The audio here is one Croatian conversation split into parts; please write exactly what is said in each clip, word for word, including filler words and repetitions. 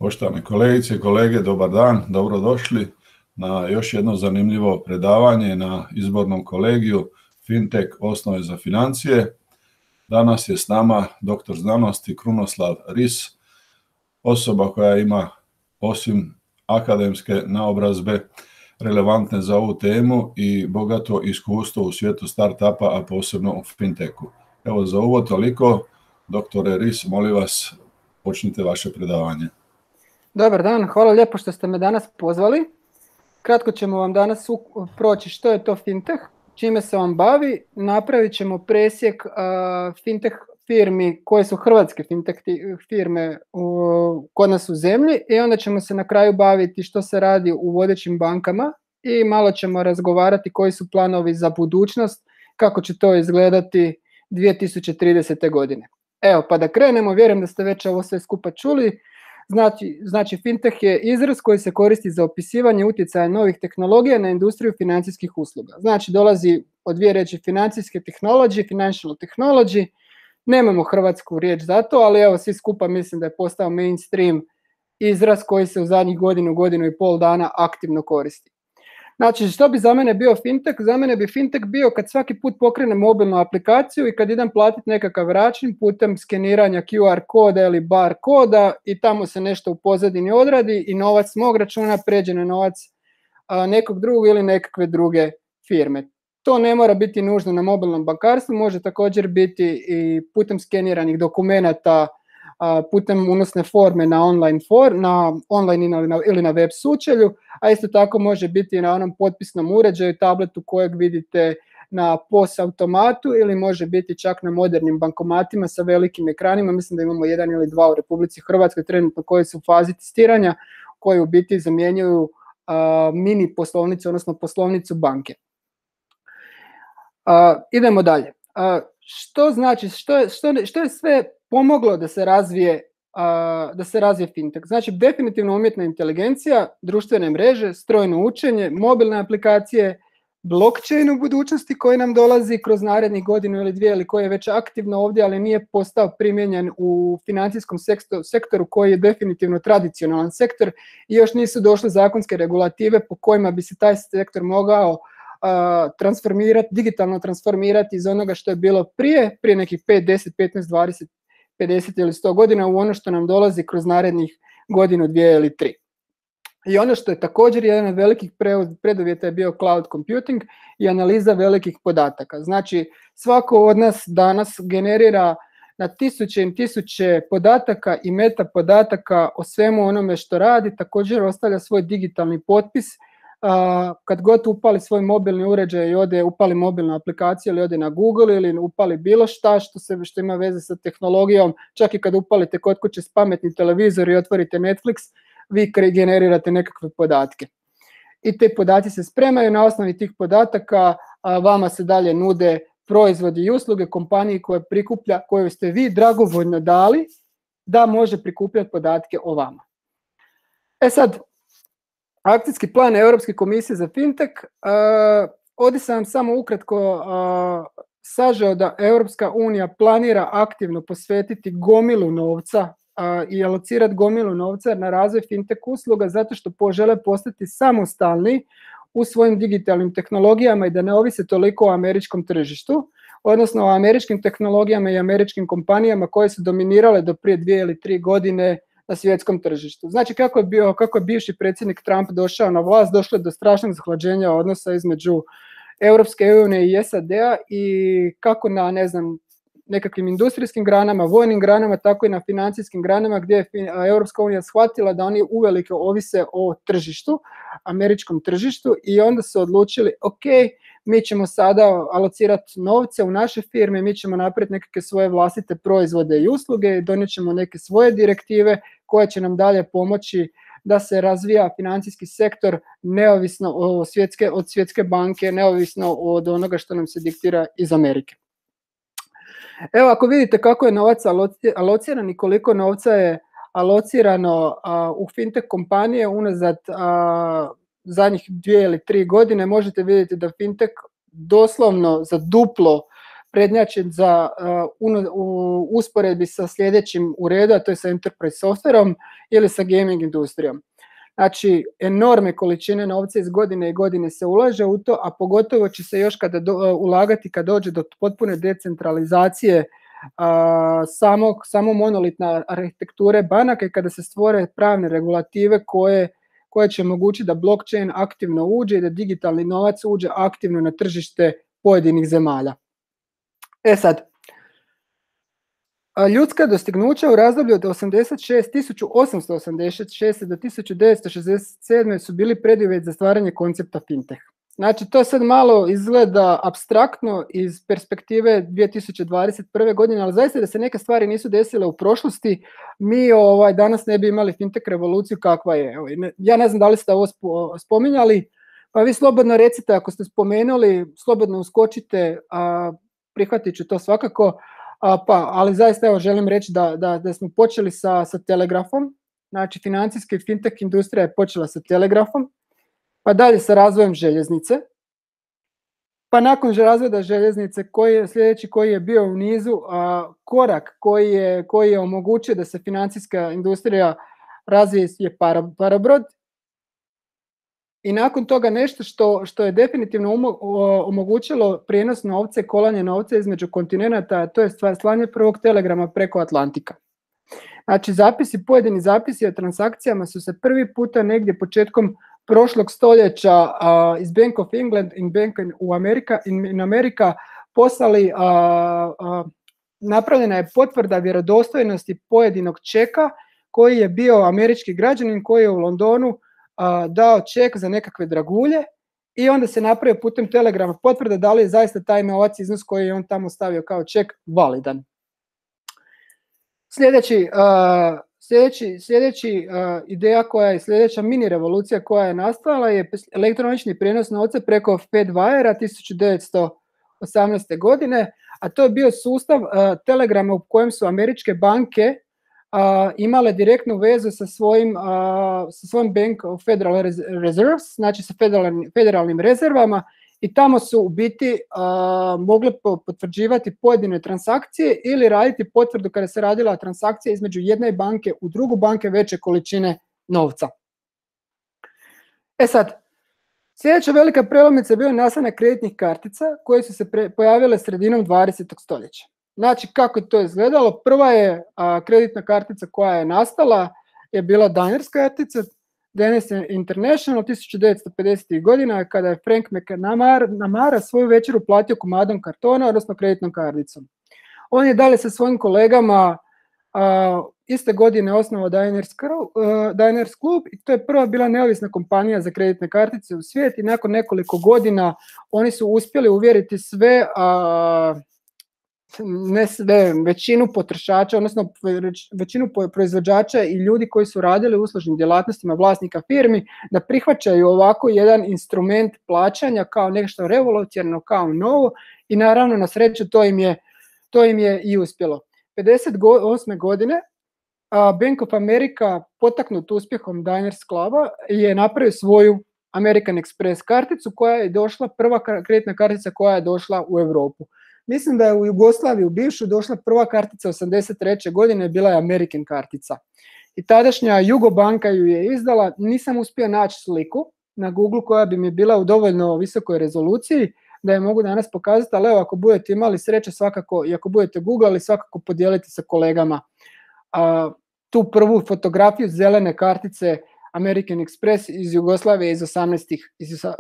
Poštovane kolegice i kolege, dobar dan, dobrodošli na još jedno zanimljivo predavanje na izbornom kolegiju Fintech osnove za financije. Danas je s nama doktor znanosti Krunoslav Ris, osoba koja ima osim akademske naobrazbe relevantne za ovu temu i bogato iskustvo u svijetu startupa, a posebno u fintechu. Evo za uvod toliko. Doktore Ris, molim vas, počnite vaše predavanje. Dobar dan, hvala lijepo što ste me danas pozvali. Kratko ćemo vam danas proći što je to fintech, čime se on bavi. Napravit ćemo presjek uh, fintech firmi koje su hrvatske fintech firme uh, kod nas u zemlji i onda ćemo se na kraju baviti što se radi u vodećim bankama i malo ćemo razgovarati koji su planovi za budućnost, kako će to izgledati dvije tisuće tridesete. godine. Evo, pa da krenemo, vjerujem da ste već ovo sve skupa čuli. Znači, znači fintech je izraz koji se koristi za opisivanje utjecaja novih tehnologija na industriju financijskih usluga. Znači dolazi od dvije riječi financijske technology, financial technology. Nemamo hrvatsku riječ za to, ali evo svi skupa mislim da je postao mainstream izraz koji se u zadnjih godinu, godinu i pol dana aktivno koristi. Znači, što bi za mene bio fintech? Za mene bi fintech bio kad svaki put pokrenem mobilnu aplikaciju i kad idem platiti nekakav račun putem skeniranja Q R koda ili bar koda i tamo se nešto u pozadini odradi i novac s mog računa pređe na novac a, nekog drugog ili nekakve druge firme. To ne mora biti nužno na mobilnom bankarstvu, može također biti i putem skeniranih dokumenata, putem unosne forme na online, for, na online ili na, ili na web sučelju, a isto tako može biti na onom potpisnom uređaju, tabletu kojeg vidite na P O S automatu ili može biti čak na modernim bankomatima sa velikim ekranima. Mislim da imamo jedan ili dva u Republici Hrvatskoj trenutno koji su u fazi testiranja, koji u biti zamjenjuju uh, mini poslovnicu, odnosno poslovnicu banke. Uh, idemo dalje. Uh, što znači, što je, što, što je sve pomoglo da se razvije uh, da se razvije fintech? Znači definitivno umjetna inteligencija, društvene mreže, strojno učenje, mobilne aplikacije, blockchain u budućnosti koji nam dolazi kroz narednih godinu ili dvije ili koji je već aktivno ovdje, ali nije postao primijenjen u financijskom sektoru koji je definitivno tradicionalan sektor i još nisu došle zakonske regulative po kojima bi se taj sektor mogao Uh, transformirati, digitalno transformirati iz onoga što je bilo prije, prije nekih pet, deset, petnaest, dvadeset, pedeset ili sto godina u ono što nam dolazi kroz narednih godinu, dvije ili tri. I ono što je također jedan od velikih preduvjeta je bio cloud computing i analiza velikih podataka. Znači svako od nas danas generira na tisuće i tisuće podataka i meta podataka o svemu onome što radi, također ostavlja svoj digitalni potpis. Uh, kad god upali svoj mobilni uređaj i ode upali mobilnu aplikaciju ili ode na Google ili upali bilo šta što, se, što ima veze sa tehnologijom, čak i kad upalite kod kuće s pametni televizor i otvorite Netflix, vi generirate nekakve podatke. I te podaci se spremaju, na osnovi tih podataka a vama se dalje nude proizvodi i usluge kompaniji koje prikuplja, koju ste vi dragovoljno dali da može prikupljati podatke o vama. E sad, akcijski plan Europske komisije za fintech, uh, ovdje sam vam samo ukratko uh, sažeo da Europska unija planira aktivno posvetiti gomilu novca uh, i alocirati gomilu novca na razvoj fintech usluga zato što požele postati samostalni u svojim digitalnim tehnologijama i da ne ovise toliko o američkom tržištu, odnosno o američkim tehnologijama i američkim kompanijama koje su dominirale do prije dvije ili tri godine na svjetskom tržištu. Znači kako je, bio, kako je bivši predsjednik Trump došao na vlast, došlo je do strašnog zahlađenja odnosa između Europske unije i S A D-a i kako na, ne znam, nekakvim industrijskim granama, vojnim granama, tako i na financijskim granama gdje je Europska unija shvatila da oni uvelike ovise o tržištu, američkom tržištu i onda su odlučili, ok, mi ćemo sada alocirati novce u naše firme, mi ćemo napraviti nekakve svoje vlastite proizvode i usluge, donijet ćemo neke svoje direktive koje će nam dalje pomoći da se razvija financijski sektor neovisno od svjetske, od svjetske banke, neovisno od onoga što nam se diktira iz Amerike. Evo ako vidite kako je novac alociran i koliko novca je alocirano a, u fintech kompanije unazad a, zadnjih dvije ili tri godine, možete vidjeti da fintech doslovno za duplo prednjači za uh, u usporedbi sa sljedećim u redu, a to je sa enterprise softverom ili sa gaming industrijom. Znači, enormne količine novca iz godine i godine se ulaže u to, a pogotovo će se još kada do, uh, ulagati kad dođe do potpune decentralizacije uh, samog, samo monolitna arhitekture banaka i kada se stvore pravne regulative koje, koje će omogućiti da blockchain aktivno uđe i da digitalni novac uđe aktivno na tržište pojedinih zemalja. E sad, ljudska dostignuća u razdoblju od tisuću osamsto osamdeset šeste do tisuću devetsto šezdeset sedme su bili preduvjet za stvaranje koncepta fintech. Znači, to sad malo izgleda apstraktno iz perspektive dvije tisuće dvadeset prve godine, ali zaista da se neke stvari nisu desile u prošlosti, mi ovaj, danas ne bi imali fintech revoluciju kakva je. Ja ne znam da li ste ovo spominjali, pa vi slobodno recite ako ste spomenuli, slobodno uskočite, a prihvatit ću to svakako. A, pa, ali zaista evo želim reći da, da, da smo počeli sa, sa telegrafom, znači financijska i fintech industrija je počela sa telegrafom, pa dalje sa razvojem željeznice, pa nakon razvoja željeznice koji je sljedeći koji je bio u nizu a, korak koji je, koji je omogućio da se financijska industrija razvije je para, parabrod. I nakon toga nešto što, što je definitivno umo, o, omogućilo prijenos novca i kolanje novca između kontinenata, to je stvar slanje prvog telegrama preko Atlantika. Znači zapisi, pojedini zapisi o transakcijama su se prvi puta negdje početkom prošlog stoljeća a, iz Bank of England in Bank u Amerika, in, in Amerika poslali, a, a, napravljena je potvrda vjerodostojnosti pojedinog čeka koji je bio američki građanin koji je u Londonu dao ček za nekakve dragulje i onda se napravio putem telegrama potvrda da li je zaista taj novac iznos koji je on tamo stavio kao ček validan. Sljedeći, uh, sljedeći, sljedeći uh, ideja koja je sljedeća mini revolucija koja je nastala je elektronični prijenos novca preko Fedwire-a tisuću devetsto osamnaeste. godine, a to je bio sustav uh, telegrama u kojem su američke banke Uh, imale direktnu vezu sa svojim, uh, sa svojim Bank of Federal Reserves, znači sa federalnim, federalnim rezervama i tamo su u biti uh, mogle potvrđivati pojedine transakcije ili raditi potvrdu kada se radila transakcija između jedne banke u drugu banke veće količine novca. E sad, sljedeća velika prelomnica je bio nastanak kreditnih kartica koje su se pre, pojavile sredinom dvadesetog stoljeća. Znači, kako je to izgledalo? Prva je a, kreditna kartica koja je nastala, je bila Diners kartica, Diners International tisuću devetsto pedesetih. godina, kada je Frank McNamara svoju večeru platio komadom kartona, odnosno kreditnom karticom. On je dalje sa svojim kolegama a, iste godine osnovao Diners, uh, Diners klub i to je prva bila neovisna kompanija za kreditne kartice u svijetu i nakon nekoliko godina oni su uspjeli uvjeriti sve a, ne sve, većinu potrošača, odnosno većinu proizvođača i ljudi koji su radili u uslužnim djelatnostima vlasnika firmi da prihvaćaju ovako jedan instrument plaćanja kao nešto revolucionarno, kao novo i naravno na sreću to im je, to im je i uspjelo. pedeset osme. godine Bank of America, potaknut uspjehom Diners kluba, je napravio svoju American Express karticu koja je došla, prva kreditna kartica koja je došla u Europu. Mislim da je u Jugoslaviji u bivšu došla prva kartica osamdeset treće. godine, bila je American kartica. I tadašnja Jugobanka ju je izdala, nisam uspio naći sliku na Google koja bi mi bila u dovoljno visokoj rezoluciji da je mogu danas pokazati, ali evo ako budete imali sreće svakako i ako budete googlali svakako podijeliti sa kolegama a, tu prvu fotografiju zelene kartice American Express iz Jugoslavije iz, osamnaestih,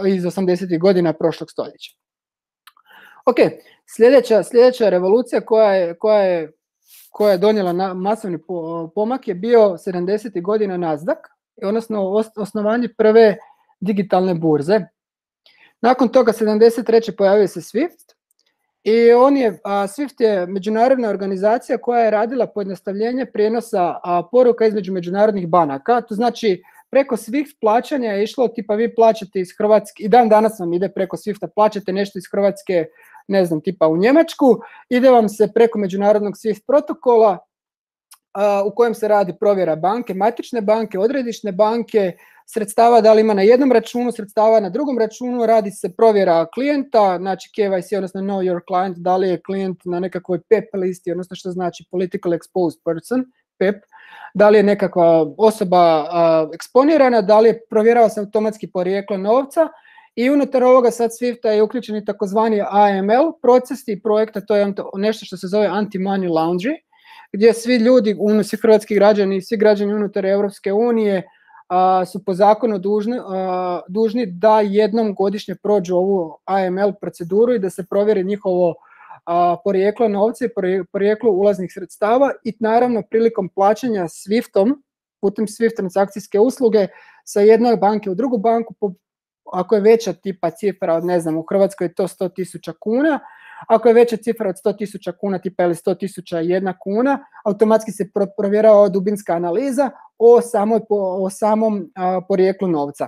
iz osamdesetih godina prošlog stoljeća. Ok, sljedeća, sljedeća revolucija koja je, koja je, koja je donijela na, masovni pomak je bio sedamdesetih godina Nasdaq, odnosno osnovanje prve digitalne burze. Nakon toga sedamdeset treće pojavio se Swift i on je, a, Swift je međunarodna organizacija koja je radila pojednostavljenje prijenosa a, poruka između međunarodnih banaka. To znači preko Swift plaćanja je išlo tipa vi plaćate iz Hrvatske, i dan danas vam ide preko Swifta, plaćate nešto iz Hrvatske, ne znam, tipa u Njemačku, ide vam se preko međunarodnog Swift protokola a, u kojem se radi provjera banke, matične banke, odredišne banke, sredstava, da li ima na jednom računu sredstava, na drugom računu, radi se provjera klijenta, znači K Y C, odnosno know your client, da li je klijent na nekakvoj P E P listi, odnosno što znači political exposed person, P E P, da li je nekakva osoba uh, eksponirana, da li je provjerava se automatski porijeklo novca i unutar ovoga sad Swifta je uključen i takozvani A M L proces i projekta, to je nešto što se zove anti-money laundry, gdje svi ljudi, svi hrvatski građani i svi građani unutar Europske unije a, su po zakonu dužni, a, dužni da jednom godišnje prođu ovu A M L proceduru i da se provjeri njihovo a, porijeklo novca i porijeklo ulaznih sredstava i naravno prilikom plaćanja Swiftom, putem Swift transakcijske usluge sa jedne banke u drugu banku, po, ako je veća tipa cifra od, ne znam, u Hrvatskoj je to sto tisuća kuna, ako je veća cifra od sto tisuća kuna, tipa ili sto tisuća jedna kuna, automatski se provjerava dubinska analiza o, samoj, o samom a, porijeklu novca.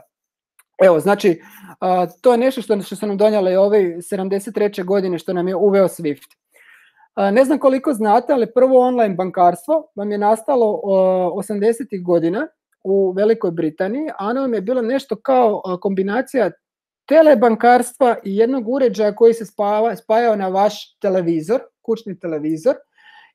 Evo, znači, a, to je nešto što, što su nam donijeli ove sedamdeset treće godine, što nam je uveo Swift. A, ne znam koliko znate, ali prvo online bankarstvo vam je nastalo osamdesetih godina u Velikoj Britaniji, a ono vam je bilo nešto kao a, kombinacija telebankarstva i jednog uređaja koji se spava, spajao na vaš televizor, kućni televizor,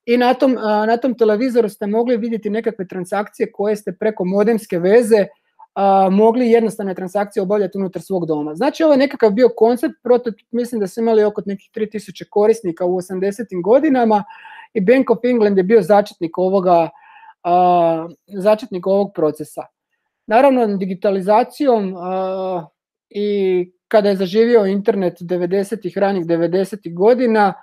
i na tom, na tom televizoru ste mogli vidjeti nekakve transakcije koje ste preko modemske veze a, mogli jednostavne transakcije obavljati unutar svog doma. Znači ovo je nekakav bio koncept, prototip, mislim da su imali oko nekih tri tisuće korisnika u osamdesetim godinama i Bank of England je bio začetnik ovoga, a, začetnik ovog procesa. Naravno, digitalizacijom a, i kada je zaživio internet devedesetih, ranih devedesetih godina,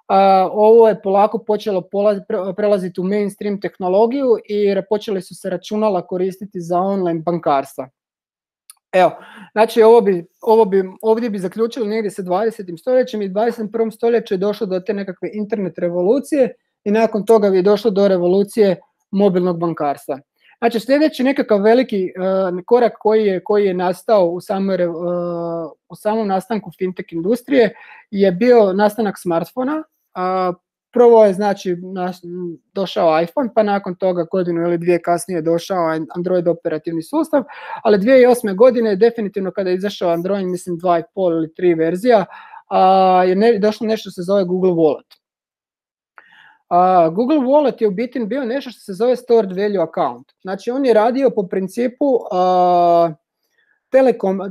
a, ovo je polako počelo polaz, prelaziti u mainstream tehnologiju i počeli su se računala koristiti za online bankarstva. Evo, znači ovo bi, ovo bi, ovdje bi zaključili negdje sa dvadesetim stoljećem i dvadeset prvom stoljeću je došlo do te nekakve internet revolucije i nakon toga bi došlo do revolucije mobilnog bankarstva. Znači sljedeći nekakav veliki uh, korak koji je, koji je nastao u, samoj, uh, u samom nastanku fintech industrije je bio nastanak smartfona. Uh, prvo je znači naš, došao iPhone, pa nakon toga godinu ili dvije kasnije došao Android operativni sustav, ali dvije tisuće osme godine definitivno kada je izašao Android, mislim dva i pol ili tri verzija, uh, je ne, došlo nešto se zove Google Wallet. Uh, Google Wallet je u biti bio nešto što se zove Stored Value Account. Znači on je radio po principu uh, telekom, uh,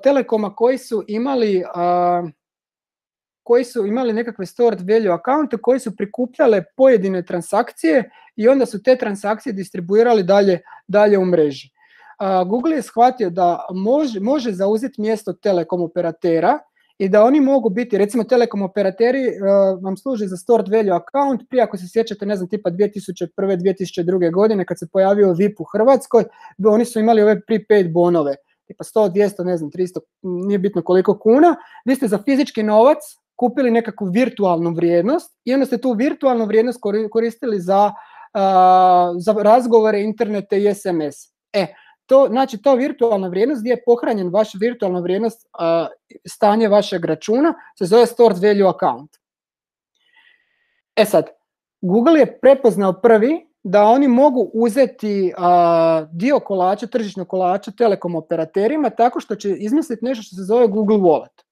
telekoma koji su imali uh, koji su imali nekakve Stored Value Account koji su prikupljale pojedine transakcije i onda su te transakcije distribuirali dalje, dalje u mreži. Uh, Google je shvatio da može, može zauzeti mjesto telekom operatera i da oni mogu biti, recimo telekom operateri uh, vam služe za stored value account, prije ako se sjećate, ne znam, tipa dvije tisuće prve. dvije tisuće druge. godine kad se pojavio V I P u Hrvatskoj, oni su imali ove prepaid bonove, tipa sto, dvjesto, ne znam, tristo, nije bitno koliko kuna, vi ste za fizički novac kupili nekakvu virtualnu vrijednost i onda ste tu virtualnu vrijednost koristili za, uh, za razgovore, internete i S M S. E, To, znači, to virtualna vrijednost gdje je pohranjen vaš virtualna vrijednost, uh, stanje vašeg računa, se zove Stored Value Account. E sad, Google je prepoznao prvi da oni mogu uzeti uh, dio kolača, tržišnog kolača telekom operaterima tako što će izmisliti nešto što se zove Google Wallet.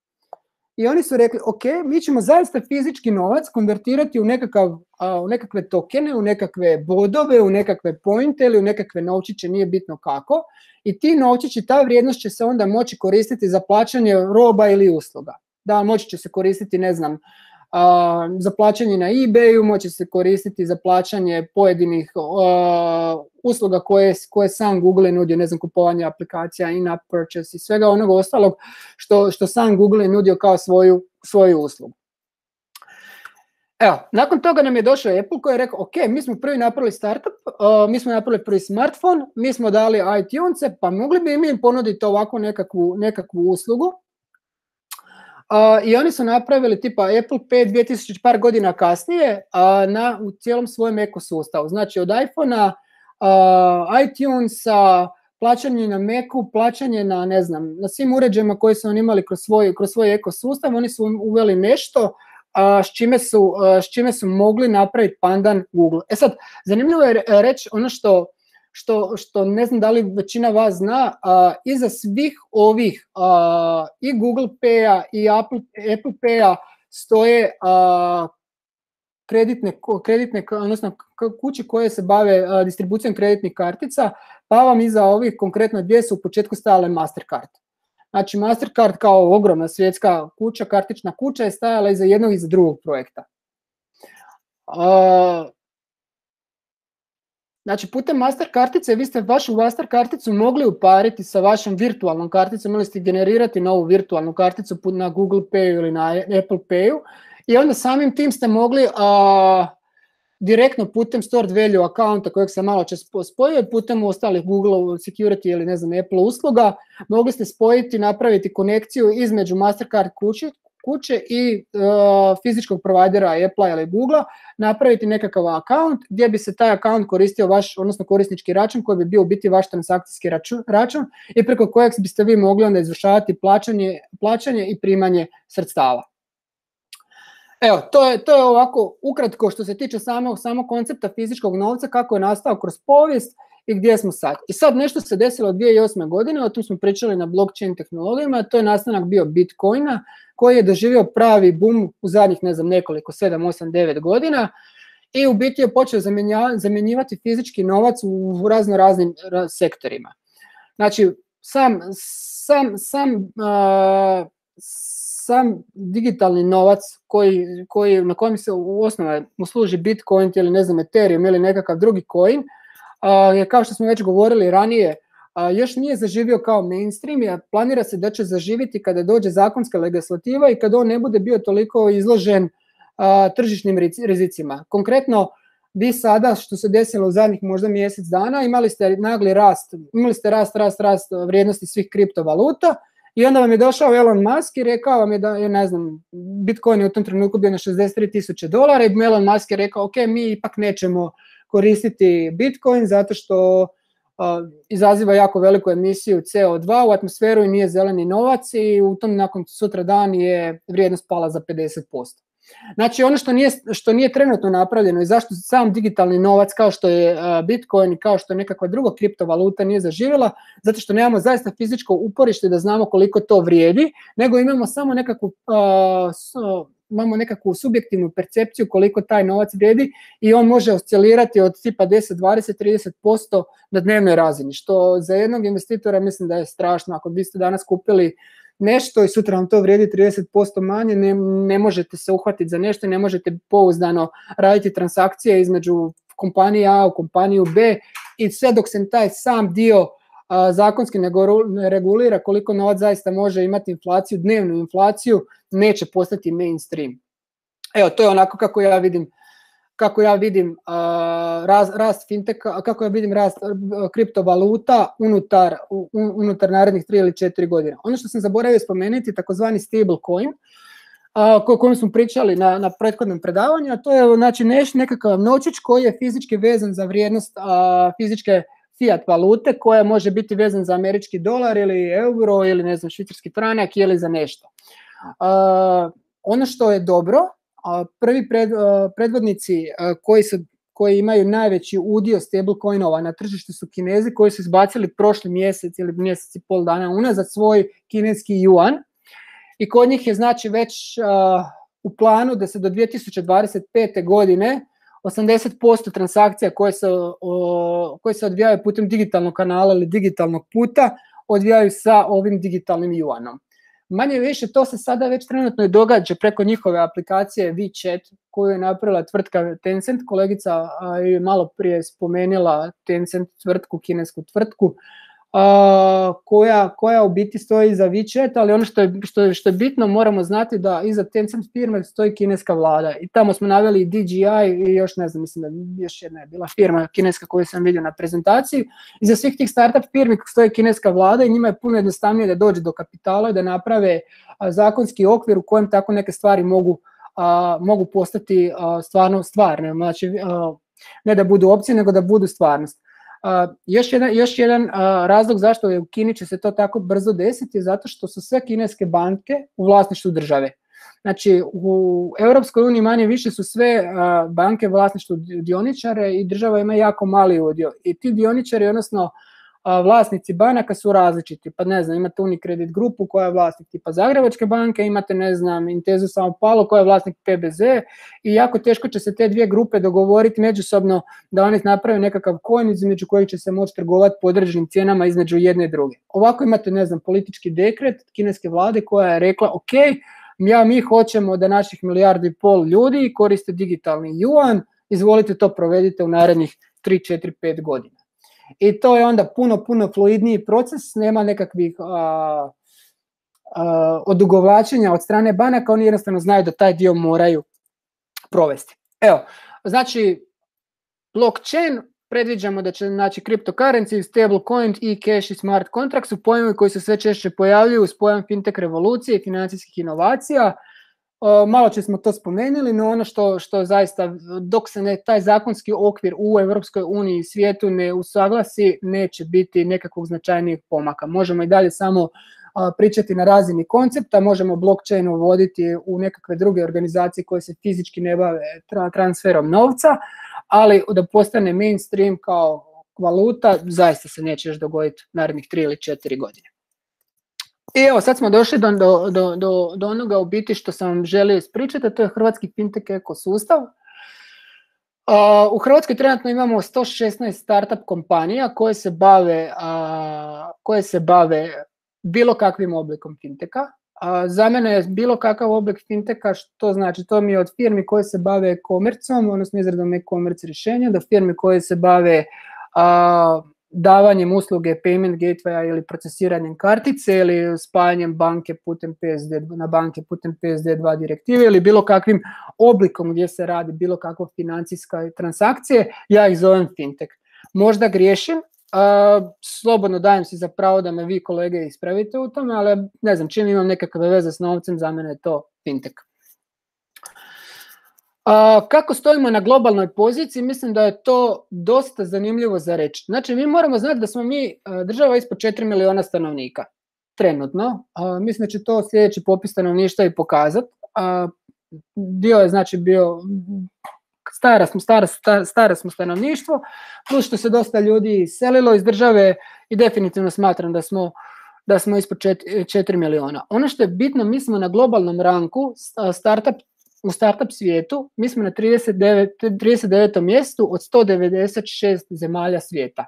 I oni su rekli, ok, mi ćemo zaista fizički novac konvertirati u, nekakav, uh, u nekakve tokene, u nekakve bodove, u nekakve pointe ili u nekakve novčiće, nije bitno kako. I ti novčići, ta vrijednost će se onda moći koristiti za plaćanje roba ili usluga. Da, moći će se koristiti, ne znam, uh, za plaćanje na eBayu, moći se koristiti za plaćanje pojedinih uh, usluga koje, koje sam Google nudio, ne znam, kupovanje aplikacija, in-app purchase i svega onog ostalog što, što sam Google je nudio kao svoju, svoju uslugu. Evo, nakon toga nam je došao Apple koji je rekao, ok, mi smo prvi napravili startup, uh, mi smo napravili prvi smartphone, mi smo dali iTunes-e, pa mogli bi mi ponuditi ovakvu nekakvu, nekakvu uslugu. Uh, I oni su napravili tipa Apple Pay dvije tisuće par godina kasnije uh, na, u cijelom svojem ekosustavu. Znači od iPhone-a, uh, iTunes-a, plaćanje na Macu, plaćanje na, ne znam, na svim uređajima koji su oni imali kroz svoj, kroz svoj ekosustav, oni su uveli nešto uh, s, čime su, uh, s čime su mogli napraviti pandan Google. E sad, zanimljivo je reći ono što što, što ne znam da li većina vas zna, uh, iza svih ovih uh, i Google Pay-a i Apple, Apple Pay-a stoje uh, kreditne, kreditne, odnosno kuće koje se bave uh, distribucijom kreditnih kartica, pa vam iza ovih konkretno dvije su u početku stajale Mastercard. Znači Mastercard kao ogromna svjetska kuća, kartična kuća je stajala iza jednog i iza drugog projekta. Uh, Znači, putem master kartice, vi ste vašu master karticu mogli upariti sa vašom virtualnom karticom, mogli ste generirati novu virtualnu karticu na Google Pay ili na Apple Payu i onda samim tim ste mogli uh, direktno putem stored value akaunta kojeg sam malo čas spojio, putem ostalih Google security ili ne znam Apple usluga, mogli ste spojiti, napraviti konekciju između Mastercard kuće, kuće i uh, fizičkog provajdera Apple ili Google, napraviti nekakav akaunt gdje bi se taj akaunt koristio vaš, odnosno korisnički račun koji bi bio u biti vaš transakcijski račun, račun i preko kojeg biste vi mogli onda izvršavati plaćanje, plaćanje i primanje sredstava. Evo, to je, to je ovako ukratko što se tiče samog, samog koncepta fizičkog novca, kako je nastao kroz povijest i gdje smo sad. I sad nešto se desilo od dvije tisuće osme. godine, o tom smo pričali na blockchain tehnologijama, to je nastanak bio Bitcoina, koji je doživio pravi boom u zadnjih, ne znam, nekoliko, sedam, osam, devet godina i u biti je počeo zamjenjivati fizički novac u razno raznim sektorima. Znači, sam, sam, sam, uh, sam digitalni novac koji, koji, na kojem se u osnovi usluži Bitcoin ili ne znam Ethereum ili nekakav drugi coin, uh, je kao što smo već govorili ranije, uh, još nije zaživio kao mainstream, a planira se da će zaživiti kada dođe zakonska legislativa i kada on ne bude bio toliko izložen uh, tržišnim rizicima. Konkretno, vi sada, što se desilo u zadnjih možda mjesec dana, imali ste nagli rast, imali ste rast, rast, rast vrijednosti svih kriptovaluta, i onda vam je došao Elon Musk i rekao vam je da je, ne znam, Bitcoin je u tom trenutku bio na šezdeset tri tisuće dolara i Elon Musk je rekao, ok, mi ipak nećemo koristiti Bitcoin zato što uh, izaziva jako veliku emisiju C O dva u atmosferu i nije zeleni novac i u tom nakon sutra dan je vrijednost pala za pedeset posto. Znači ono što nije, što nije trenutno napravljeno i zašto sam digitalni novac kao što je Bitcoin i kao što je nekakva druga kriptovaluta nije zaživjela, zato što nemamo zaista fizičko uporište da znamo koliko to vrijedi, nego imamo samo nekakvu, uh, imamo nekakvu subjektivnu percepciju koliko taj novac vrijedi i on može oscilirati od tipa deset, dvadeset, trideset posto na dnevnoj razini, što za jednog investitora mislim da je strašno. Ako biste danas kupili nešto i sutra vam to vrijedi trideset posto manje, ne, ne možete se uhvatiti za nešto i ne možete pouzdano raditi transakcije između kompanije A u kompaniju B i sve dok se taj sam dio a, zakonski ne regulira koliko novac zaista može imati inflaciju, dnevnu inflaciju, neće postati mainstream. Evo, to je onako kako ja vidim kako ja vidim uh, rast, rast finteka, kako ja vidim rast uh, kriptovaluta unutar, un, unutar narednih tri ili četiri godine. Ono što sam zaboravio spomenuti, takozvani stablecoin, uh, o kojem smo pričali na, na prethodnom predavanju, a to je znači neš, nekakav novčić koji je fizički vezan za vrijednost uh, fizičke fiat valute, koja može biti vezan za američki dolar ili euro ili ne znam švicarski franak ili za nešto. Uh, ono što je dobro, prvi pred, predvodnici koji, su, koji imaju najveći udio stablecoinova na tržištu su Kinezi, koji su izbacili prošli mjesec ili mjesec i pol dana unazad svoj kineski yuan i kod njih je znači već uh, u planu da se do dvije tisuće dvadeset pete. godine osamdeset posto transakcija koje se, uh, koje se odvijaju putem digitalnog kanala ili digitalnog puta odvijaju sa ovim digitalnim yuanom. Manje više to se sada već trenutno i događa preko njihove aplikacije WeChat koju je napravila tvrtka Tencent. Kolegica je malo prije spomenula Tencent tvrtku, kinesku tvrtku a, koja, koja u biti stoji iza WeChat, ali ono što je, što, je, što je bitno moramo znati da iza Tencent firme stoji kineska vlada i tamo smo naveli D J I i još ne znam, mislim da još jedna je bila firma kineska koju sam vidio na prezentaciji. Iza svih tih startup firmi stoji kineska vlada i njima je puno jednostavnije da dođe do kapitala i da naprave a, zakonski okvir u kojem tako neke stvari mogu, a, mogu postati a, stvarno stvarne, znači a, ne da budu opcije nego da budu stvarnost. Uh, još jedan, još jedan uh, razlog zašto je u Kini će se to tako brzo desiti je zato što su sve kineske banke u vlasništvu države. Znači, u Europskoj uniji manje više su sve uh, banke vlasništvo dioničare i država ima jako mali udio. I ti dioničari, odnosno uh, vlasnici banaka su različiti. Pa ne znam, imate Unicredit grupu koja je vlasnik tipa Zagrebačke banke, imate, ne znam, Intezu Sao Paulo koja je vlasnik P B Z i jako teško će se te dvije grupe dogovoriti međusobno da oni naprave nekakav coin između kojih će se moći trgovati po određenim cijenama između jedne i druge. Ovako imate, ne znam, politički dekret kineske vlade koja je rekla, ok, ja, mi hoćemo da naših milijardu i pol ljudi koriste digitalni juan, izvolite to provedite u narednih tri, četiri, pet godina. I to je onda puno, puno fluidniji proces, nema nekakvih a, a, odugovlačenja od strane banaka, oni jednostavno znaju da taj dio moraju provesti. Evo, znači, blockchain, predviđamo da će, znači, cryptocurrency, stablecoin, e-cash i smart contract su pojmovi koji se sve češće pojavljuju uz pojam fintech revolucije i financijskih inovacija. O, malo će smo to spomenuli, no ono što, što zaista, dok se ne, taj zakonski okvir u Europskoj uniji i svijetu ne usaglasi, neće biti nekakvog značajnijeg pomaka. Možemo i dalje samo a, pričati na razini koncepta, možemo blockchain uvoditi u nekakve druge organizacije koje se fizički ne bave tra, transferom novca, ali da postane mainstream kao valuta, zaista se neće još dogoditi narednih tri ili četiri godine. I evo, sad smo došli do, do, do, do, do onoga u biti što sam vam želio ispričati, a to je hrvatski fintech ekosustav. Uh, u Hrvatskoj trenutno imamo sto šesnaest startup kompanija koje se bave, uh, koje se bave bilo kakvim oblikom fintecha. Uh, za mene je bilo kakav oblik fintecha, što znači, to mi je od firmi koje se bave e-commerceom, odnosno izradom e-commerce rješenja, do firmi koje se bave uh, davanjem usluge payment gatewaya ili procesiranjem kartice ili spajanjem banke putem P S D na banke putem P S D dva direktive ili bilo kakvim oblikom gdje se radi bilo kakva financijska transakcije, ja ih zovem fintech. Možda griješim, uh, slobodno dajem si za pravo da me vi kolege ispravite u tome, ali ne znam, čim imam nekakve veze s novcem, za mene je to fintech. Uh, kako stojimo na globalnoj poziciji, mislim da je to dosta zanimljivo za reći. Znači, mi moramo znati da smo mi uh, država ispod četiri miliona stanovnika, trenutno. Uh, mislim da će to sljedeći popis stanovništva i pokazati. Uh, dio je, znači, bio, stara smo, stara, stara, stara smo stanovništvo, plus što se dosta ljudi iselilo iz države i definitivno smatram da smo, da smo ispod četiri miliona. Ono što je bitno, mi smo na globalnom ranku startup u startup svijetu, mi smo na trideset devetom mjestu od sto devedeset šest zemalja svijeta.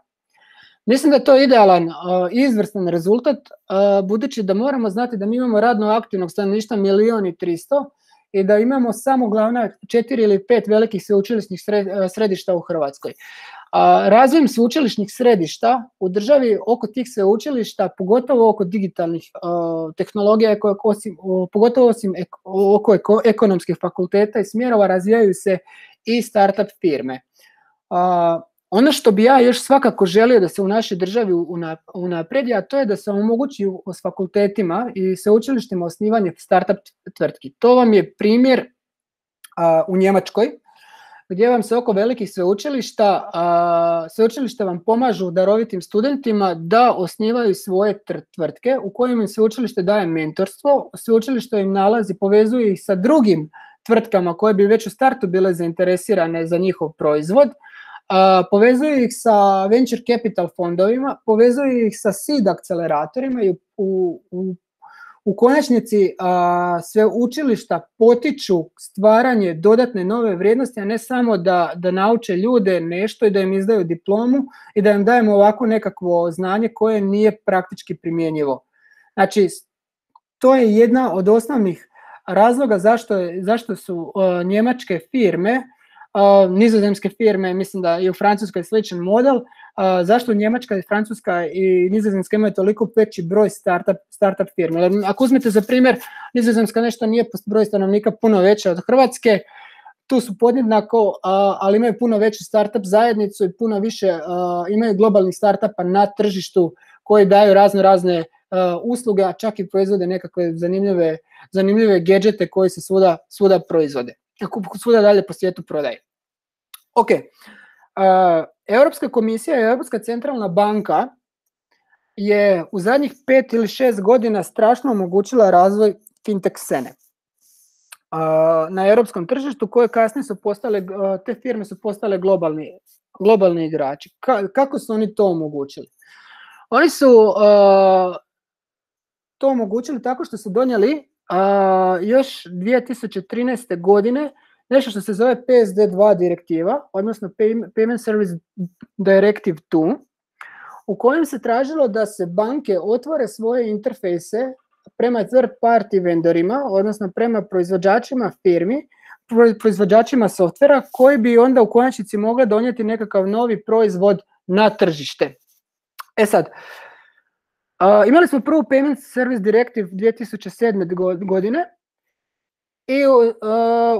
Mislim da je to idealan i uh, izvrstan rezultat, uh, budući da moramo znati da mi imamo radno aktivnog stanovništva milion i tristo i da imamo samo glavna četiri ili pet velikih sveučilišnih središta u Hrvatskoj. A razvojem sveučilišnih središta u državi oko tih sveučilišta, pogotovo oko digitalnih uh, tehnologija, koje, osim, uh, pogotovo osim ek, oko eko, ekonomskih fakulteta i smjerova, razvijaju se i startup firme. Uh, ono što bi ja još svakako želio da se u našoj državi unaprijedi, a to je da se omogući s fakultetima i sveučilištima osnivanje startup tvrtki. To vam je primjer uh, u Njemačkoj, gdje vam se oko velikih sveučilišta, a, sveučilišta vam pomažu darovitim studentima da osnivaju svoje tvrtke u kojima im sveučilište daje mentorstvo, sveučilište im nalazi, povezuje ih sa drugim tvrtkama koje bi već u startu bile zainteresirane za njihov proizvod, a, povezuje ih sa venture capital fondovima, povezuje ih sa seed akceleratorima i u, u, u U konačnici a, sve učilišta potiču stvaranje dodatne nove vrijednosti, a ne samo da, da nauče ljude nešto i da im izdaju diplomu i da im dajemo ovako nekakvo znanje koje nije praktički primjenjivo. Znači, to je jedna od osnovnih razloga zašto, je, zašto su a, njemačke firme, a, nizozemske firme, mislim da i u Francuskoj je sličan model, a, zašto Njemačka i Francuska i Nizozemska imaju toliko veći broj startup, startup firme. Ako uzmete za primjer, Nizozemska nešto nije po broj stanovnika puno veća od Hrvatske, tu su podjednako, a, ali imaju puno veću startup zajednicu i puno više a, imaju globalnih startupa na tržištu koji daju razno razne a, usluge, a čak i proizvode nekakve zanimljive, zanimljive gadgete koji se svuda, svuda proizvode, svuda dalje po svijetu prodaje. Ok, uh, Europska komisija i Europska centralna banka je u zadnjih pet ili šest godina strašno omogućila razvoj fintech scene. na europskom tržištu koje kasnije su postale, te firme su postale globalni, globalni igrači. Ka, kako su oni to omogućili? Oni su uh, to omogućili tako što su donijeli uh, još dvije tisuće trinaeste. godine nešto što se zove P S D dva direktiva, odnosno Payment Service Directive dva, u kojem se tražilo da se banke otvore svoje interfejse prema third party vendorima, odnosno prema proizvođačima firmi, proizvođačima softvera koji bi onda u konačnici mogli donijeti nekakav novi proizvod na tržište. E sad, uh, imali smo prvu Payment Service Directive dvije tisuće sedme. godine i uh,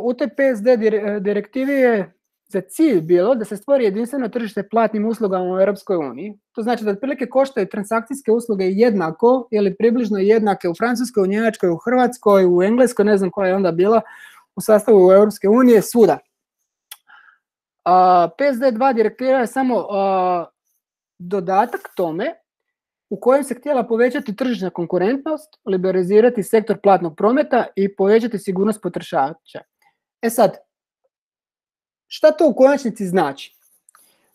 u toj P S D direktivi je za cilj bilo da se stvori jedinstveno tržište platnim uslugama u Europskoj uniji. To znači da otprilike koštaju transakcijske usluge jednako ili približno jednake u Francuskoj, u Njemačkoj, u Hrvatskoj, u Engleskoj, ne znam koja je onda bila u sastavu Europske unije, svuda. Uh, P S D dva direktiva je samo uh, dodatak tome u kojem se htjela povećati tržišna konkurentnost, liberalizirati sektor platnog prometa i povećati sigurnost potrošača. E sad, šta to u konačnici znači?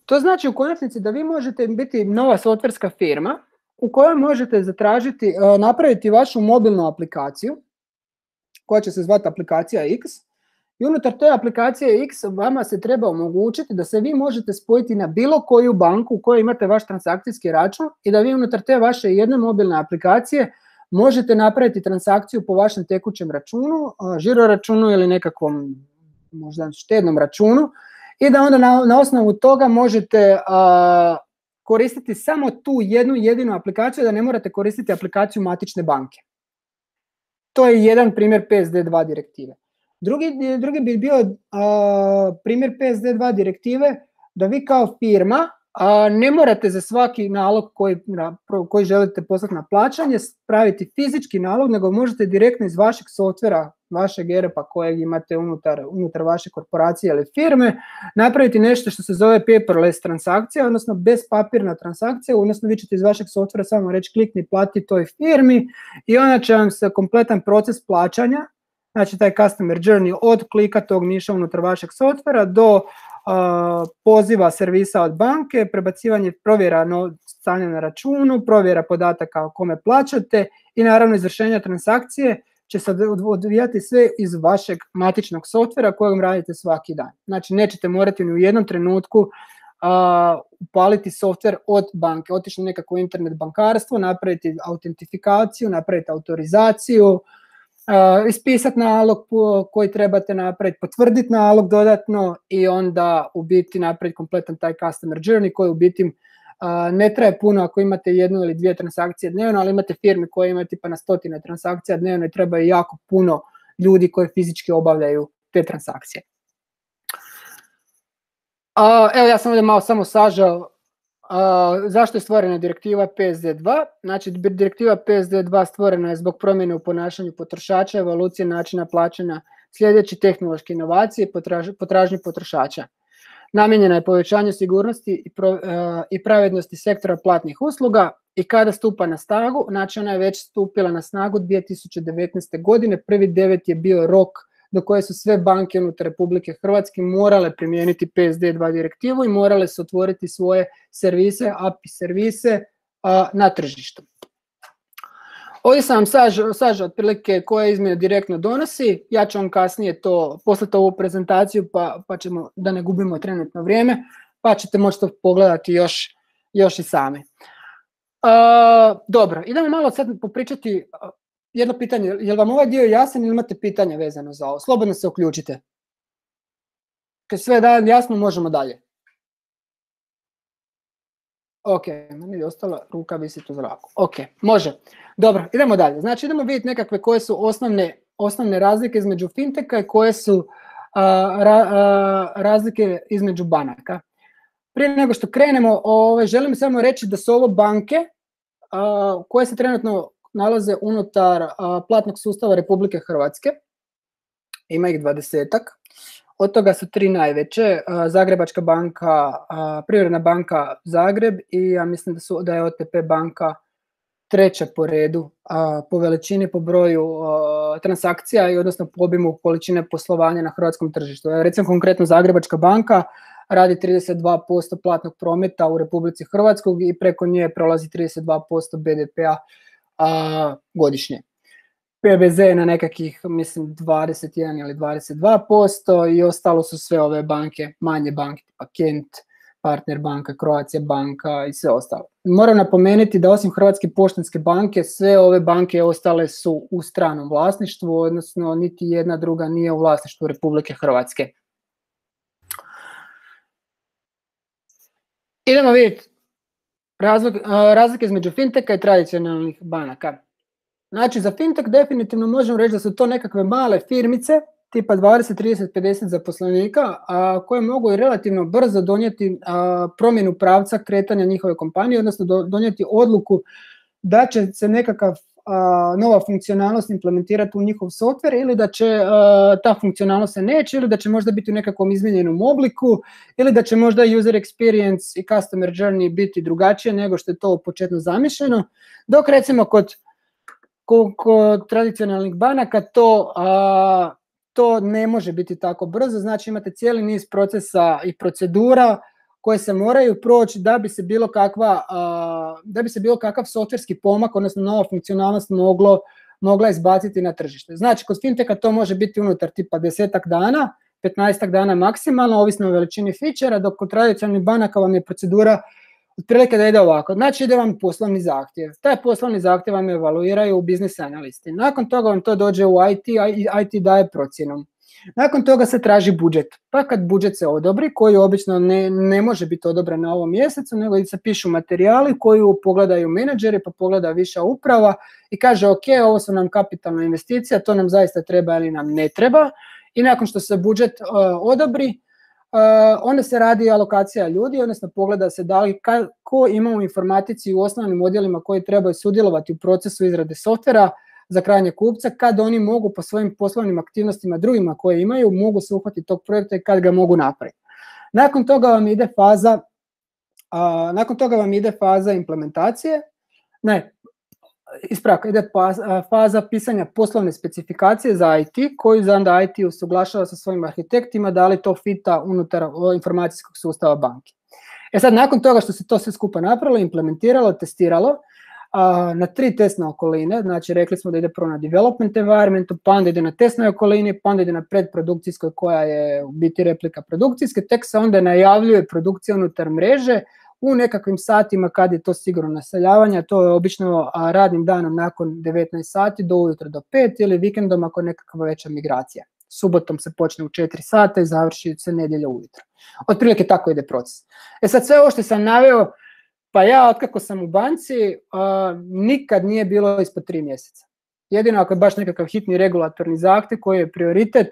To znači u konačnici da vi možete biti nova softverska firma u kojoj možete zatražiti, napraviti vašu mobilnu aplikaciju koja će se zvati aplikacija X i unutar te aplikacije X vama se treba omogućiti da se vi možete spojiti na bilo koju banku u kojoj imate vaš transakcijski račun i da vi unutar te vaše jedne mobilne aplikacije možete napraviti transakciju po vašem tekućem računu, žiro računu ili nekakvom možda štednom računu i da onda na, na osnovu toga možete a, koristiti samo tu jednu jedinu aplikaciju, da ne morate koristiti aplikaciju matične banke. To je jedan primjer P S D dva direktive. Drugi, drugi bi bio a, primjer P S D dva direktive da vi kao firma a, ne morate za svaki nalog koji, na, koji želite poslati na plaćanje praviti fizički nalog, nego možete direktno iz vašeg softvera, vašeg E R P-a kojeg imate unutar, unutar vaše korporacije ili firme, napraviti nešto što se zove paperless transakcija, odnosno bezpapirna transakcija, odnosno vi ćete iz vašeg softvera samo reći klikni plati toj firmi i onda će vam se kompletan proces plaćanja, znači taj customer journey od klika tog miša unutar vašeg softvera do uh, poziva servisa od banke, prebacivanje provjera no, stanja na računu, provjera podataka o kome plaćate i naravno izvršenja transakcije će se odvijati sve iz vašeg matičnog softvera kojeg radite svaki dan. Znači nećete morati ni u jednom trenutku uh, upaliti softver od banke, otići na nekako internet bankarstvo, napraviti autentifikaciju, napraviti autorizaciju, uh, ispisati nalog koji trebate napraviti, potvrditi nalog dodatno i onda u biti napraviti kompletan taj customer journey koji u biti Uh, ne traje puno ako imate jednu ili dvije transakcije dnevno, ali imate firme koje imaju tipa na stotine transakcija dnevno i trebaju jako puno ljudi koji fizički obavljaju te transakcije. Uh, evo ja sam ovdje malo samo sažao uh, zašto je stvorena direktiva P S D dva. Znači direktiva P S D dva stvorena je zbog promjene u ponašanju potrošača, evolucije načina plaćanja, sljedeći tehnološke inovacije, potraž, potražnje potrošača. Namijenjena je povećanju sigurnosti i, pro, uh, i pravednosti sektora platnih usluga i kada stupa na snagu, znači ona je već stupila na snagu dvije tisuće devetnaeste. godine, prvi devet je bio rok do koje su sve banke unutar Republike Hrvatske morale primijeniti P S D dva direktivu i morale su otvoriti svoje servise, A P I servise uh, na tržištu. Ovdje sam vam sažao, sažao otprilike koje izmjene direktno donosi, ja ću vam kasnije to poslati ovu prezentaciju pa, pa ćemo, da ne gubimo trenutno vrijeme, pa ćete moći to pogledati još, još i sami. Uh, dobro, idemo malo sad popričati uh, jedno pitanje, je li vam ovaj dio jasan ili imate pitanja vezano za ovo? Slobodno se uključite. Kad sve je jasno, možemo dalje. Ok, meni je ostala ruka visiti u zraku. Ok, može. Dobro, idemo dalje. Znači idemo vidjeti nekakve koje su osnovne, osnovne razlike između finteka i koje su uh, ra, uh, razlike između banaka. Prije nego što krenemo, ovaj, želim samo reći da su ovo banke uh, koje se trenutno nalaze unutar uh, platnog sustava Republike Hrvatske. Ima ih dvadesetak. Od toga su tri najveće, Zagrebačka banka, Privredna banka Zagreb i ja mislim da, su, da je O T P banka treća po redu a, po veličini, po broju a, transakcija i odnosno po obimu količine poslovanja na hrvatskom tržištu. Recimo konkretno Zagrebačka banka radi trideset dva posto platnog prometa u Republici Hrvatskoj i preko nje prolazi trideset dva posto be de pe-a a, godišnje. pe be ze je na nekakvih, mislim, dvadeset jedan ili dvadeset dva posto i ostalo su sve ove banke, manje banke, tipa Kent, Partner banka, Croatia banka i sve ostalo. Moram napomenuti da osim Hrvatske poštanske banke, sve ove banke ostale su u stranom vlasništvu, odnosno niti jedna druga nije u vlasništvu Republike Hrvatske. Idemo vidjeti razlike između finteka i tradicionalnih banaka. Znači, za fintech definitivno možemo reći da su to nekakve male firmice, tipa dvadeset, trideset, pedeset zaposlenika, a koje mogu i relativno brzo donijeti a, promjenu pravca kretanja njihove kompanije, odnosno do, donijeti odluku da će se nekakav a, nova funkcionalnost implementirati u njihov software ili da će a, ta funkcionalnost se neće, ili da će možda biti u nekakvom izmijenjenom obliku, ili da će možda user experience i customer journey biti drugačije nego što je to početno zamišljeno, dok recimo kod, kod, kod tradicionalnih banaka to... A, to ne može biti tako brzo, znači imate cijeli niz procesa i procedura koje se moraju proći da bi se bilo kakva, da bi se bilo kakav softverski pomak, odnosno nova funkcionalnost moglo, mogla izbaciti na tržište. Znači, kod finteka to može biti unutar tipa desetak dana, petnaestak dana maksimalno, ovisno o veličini fičera, dok kod tradicionalnih banaka vam je procedura otprilike da ide ovako. Znači, ide vam poslovni zahtjev. Taj poslovni zahtjev vam evaluiraju u business analisti. Nakon toga vam to dođe u i te i i te daje procjenu. Nakon toga se traži budžet. Pa kad budžet se odobri, koji obično ne, ne može biti odobren na ovom mjesecu, nego se pišu materijali koji pogledaju menadžeri, pa pogleda viša uprava i kaže ok, ovo su nam kapitalna investicija, to nam zaista treba ili nam ne treba. I nakon što se budžet uh, odobri, Uh, onda se radi alokacija ljudi, odnosno pogleda se da li ka, ko ima u informatici u osnovnim odjelima koji trebaju sudjelovati u procesu izrade softvera za krajnje kupca, kad oni mogu po svojim poslovnim aktivnostima drugima koje imaju, mogu se uhvatiti tog projekta i kad ga mogu napraviti. Nakon toga vam ide faza, uh, nakon toga vam ide faza implementacije, ne, ispravka, ide faza pisanja poslovne specifikacije za i te, koju za onda i te usuglašava sa svojim arhitektima, da li to fita unutar informacijskog sustava banke. E sad, nakon toga što se to sve skupa napravilo, implementiralo, testiralo, a, na tri testne okoline, znači rekli smo da ide prvo na development environmentu, pa onda ide na testnoj okolini, pa onda ide na predprodukcijskoj koja je u biti replika produkcijske, tek se onda najavljuje produkcija unutar mreže, u nekakvim satima kad je to sigurno naseljavanje, to je obično radnim danom nakon devetnaest sati do ujutro do pet ili vikendom ako je nekakva veća migracija. Subotom se počne u četiri sata i završi se nedjelja ujutro. Otprilike tako ide proces. E sad sve ovo što sam naveo, pa ja otkako sam u banci, uh, nikad nije bilo ispod tri mjeseca. Jedino ako je baš nekakav hitni regulatorni zahtjev koji je prioritet,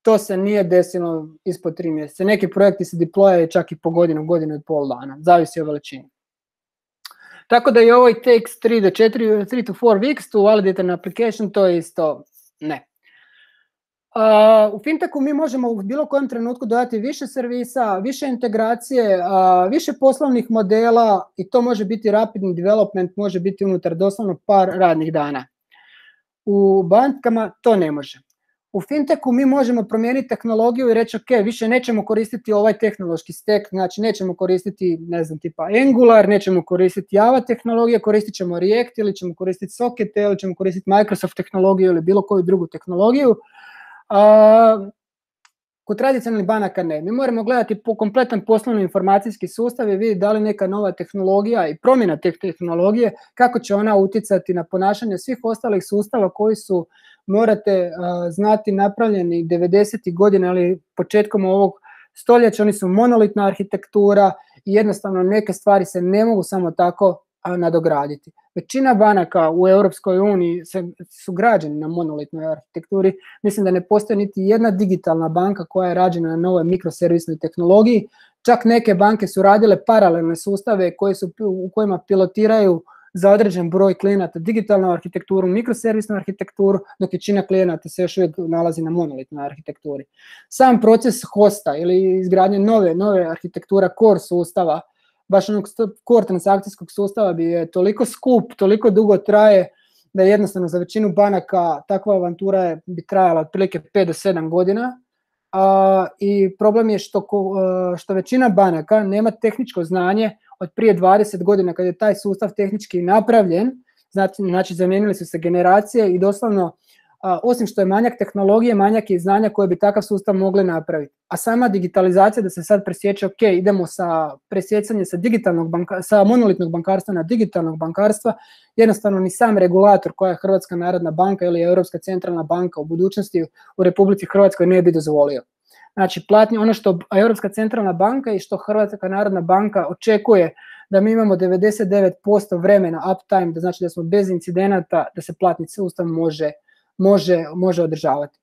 to se nije desilo ispod tri mjeseca. Neki projekti se deployaju čak i po godinu, godinu i pol dana. Zavisi o veličini. Tako da i ovo takes three do četiri, three to four weeks to validate an application, to je isto ne. Uh, u fintechu mi možemo u bilo kojem trenutku dodati više servisa, više integracije, uh, više poslovnih modela i to može biti rapidni development, može biti unutar doslovno par radnih dana. U bankama to ne može. U fintechu mi možemo promijeniti tehnologiju i reći ok, više nećemo koristiti ovaj tehnološki stack, znači nećemo koristiti, ne znam, tipa Angular, nećemo koristiti Java tehnologije, koristit ćemo React ili ćemo koristiti Socket ili ćemo koristiti Microsoft tehnologiju ili bilo koju drugu tehnologiju. Uh, kod tradicionalnih banaka ne. Mi moramo gledati po kompletan poslovni informacijski sustav i vidjeti da li neka nova tehnologija i promjena te tehnologije, kako će ona utjecati na ponašanje svih ostalih sustava koji su, morate uh, znati, napravljeni devedesetih godina ili početkom ovog stoljeća. Oni su monolitna arhitektura i jednostavno neke stvari se ne mogu samo tako nadograditi. Većina banaka u Europskoj uniji su građeni na monolitnoj arhitekturi. Mislim da ne postoji niti jedna digitalna banka koja je rađena na novoj mikroservisnoj tehnologiji. Čak neke banke su radile paralelne sustave koje su, u kojima pilotiraju za određen broj klijenata digitalnu arhitekturu, mikroservisnu arhitekturu, dok većina klijenata se još uvijek nalazi na monolitnoj arhitekturi. Sam proces hosta ili izgradnje nove, nove arhitektura core sustava baš onog core transakcijskog sustava bi je toliko skup, toliko dugo traje, da jednostavno za većinu banaka takva avantura je, bi trajala otprilike pet do sedam godina. Uh, I problem je što, uh, što većina banaka nema tehničko znanje od prije dvadeset godina kad je taj sustav tehnički napravljen, znači, znači zamijenili su se generacije i doslovno, uh, osim što je manjak tehnologije, manjak je znanja koje bi takav sustav mogli napraviti. A sama digitalizacija da se sad presječe, ok, idemo sa presjecanje sa, digitalnog banka, sa monolitnog bankarstva na digitalnog bankarstva, jednostavno ni sam regulator koja je Hrvatska narodna banka ili Europska centralna banka u budućnosti u Republici Hrvatskoj ne bi dozvolio. Znači, platni, ono što Europska centralna banka i što Hrvatska narodna banka očekuje da mi imamo devedeset devet posto vremena uptime, da znači da smo bez incidenata, da se platni sustav može, može, može održavati.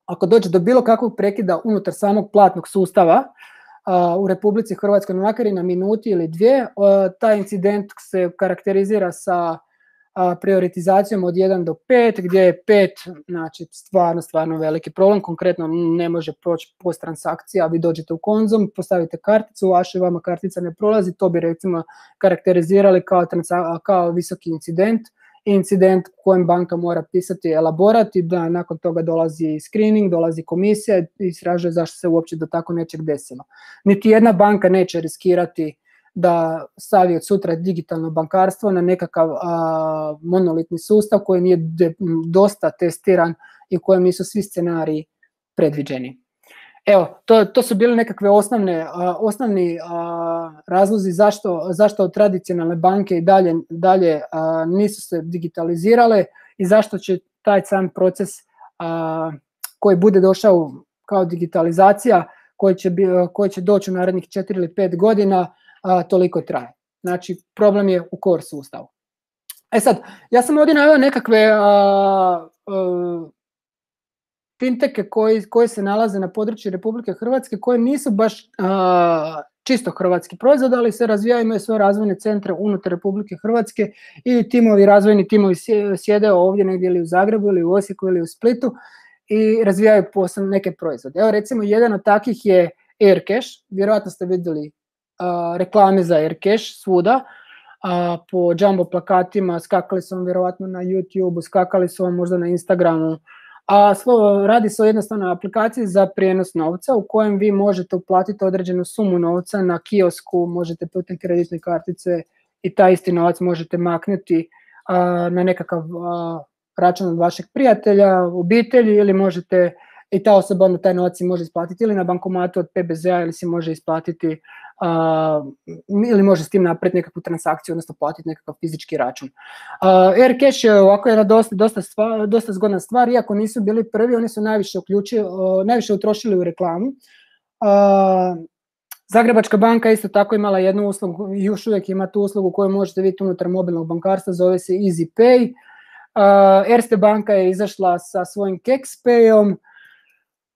Ako dođe do bilo kakvog prekida unutar samog platnog sustava uh, u Republici Hrvatskoj, makar i na minuti ili dvije, uh, taj incident se karakterizira sa uh, prioritizacijom od jedan do pet, gdje je pet, znači stvarno, stvarno veliki problem, konkretno ne može proći post transakcija, vi dođete u Konzum, postavite karticu, vaša vama kartica ne prolazi, to bi recimo karakterizirali kao, kao visoki incident, incident u kojem banka mora pisati elaborat i da nakon toga dolazi screening, dolazi komisija i istražuje zašto se uopće do tako nečeg desilo. Niti jedna banka neće riskirati da stavi od sutra digitalno bankarstvo na nekakav a, monolitni sustav koji nije de, dosta testiran i u kojem nisu svi scenariji predviđeni. Evo, to, to su bile nekakve osnovne, a, osnovni a, razlozi zašto, zašto tradicionalne banke i dalje, dalje a, nisu se digitalizirale i zašto će taj sam proces a, koji bude došao kao digitalizacija, koji će, bi, koji će doći u narednih četiri ili pet godina, a, toliko traje. Znači, problem je u core sustavu. E sad, ja sam ovdje naveo nekakve a, a, finteke koji, koji se nalaze na području Republike Hrvatske, koje nisu baš a, čisto hrvatski proizvod, ali se razvijaju, imaju svoje razvojne centre unutar Republike Hrvatske i timovi, razvojni timovi sjede ovdje negdje ili u Zagrebu ili u Osijeku ili u Splitu i razvijaju posebno neke proizvode. Evo recimo jedan od takvih je Aircash, vjerojatno ste vidjeli a, reklame za Aircash svuda, a, po jumbo plakatima, skakali su vam vjerojatno na YouTube, skakali su vam možda na Instagramu, a radi se o jednostavnoj aplikaciji za prijenos novca u kojem vi možete uplatiti određenu sumu novca na kiosku, možete putem kreditne kartice i taj isti novac možete maknuti a, na nekakav a, račun od vašeg prijatelja, obitelji ili možete, i ta osoba onda taj novac si može isplatiti ili na bankomatu od P B Z-a ili si može isplatiti uh, ili može s tim napraviti nekakvu transakciju, odnosno platiti nekakav fizički račun. Uh, Aircash je ovako jedna dosta, dosta, stvar, dosta zgodna stvar, iako nisu bili prvi, oni su najviše, uključili, uh, najviše utrošili u reklamu. Uh, Zagrebačka banka isto tako imala jednu uslugu, još uvijek ima tu uslugu koju možete vidjeti unutar mobilnog bankarstva, zove se EasyPay. Uh, Erste banka je izašla sa svojim KexPayom.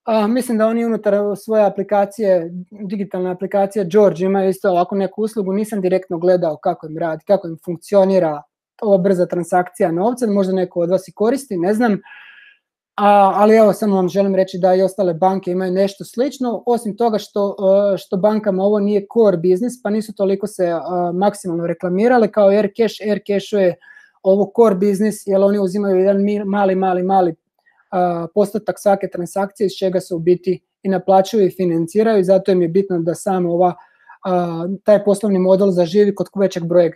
Uh, mislim da oni unutar svoje aplikacije, digitalne aplikacije George imaju isto ovako neku uslugu, nisam direktno gledao kako im radi, kako im funkcionira ova brza transakcija novca, možda neko od vas i koristi, ne znam, A, ali evo samo vam želim reći da i ostale banke imaju nešto slično, osim toga što, što bankama ovo nije core business, pa nisu toliko se uh, maksimalno reklamirale kao Aircash. Aircash je ovo core business, jer oni uzimaju jedan mali, mali, mali uh, postotak svake transakcije iz čega se u biti i naplaćuju i financiraju i zato im je bitno da samo ova, uh, taj poslovni model zaživi kod većeg broja,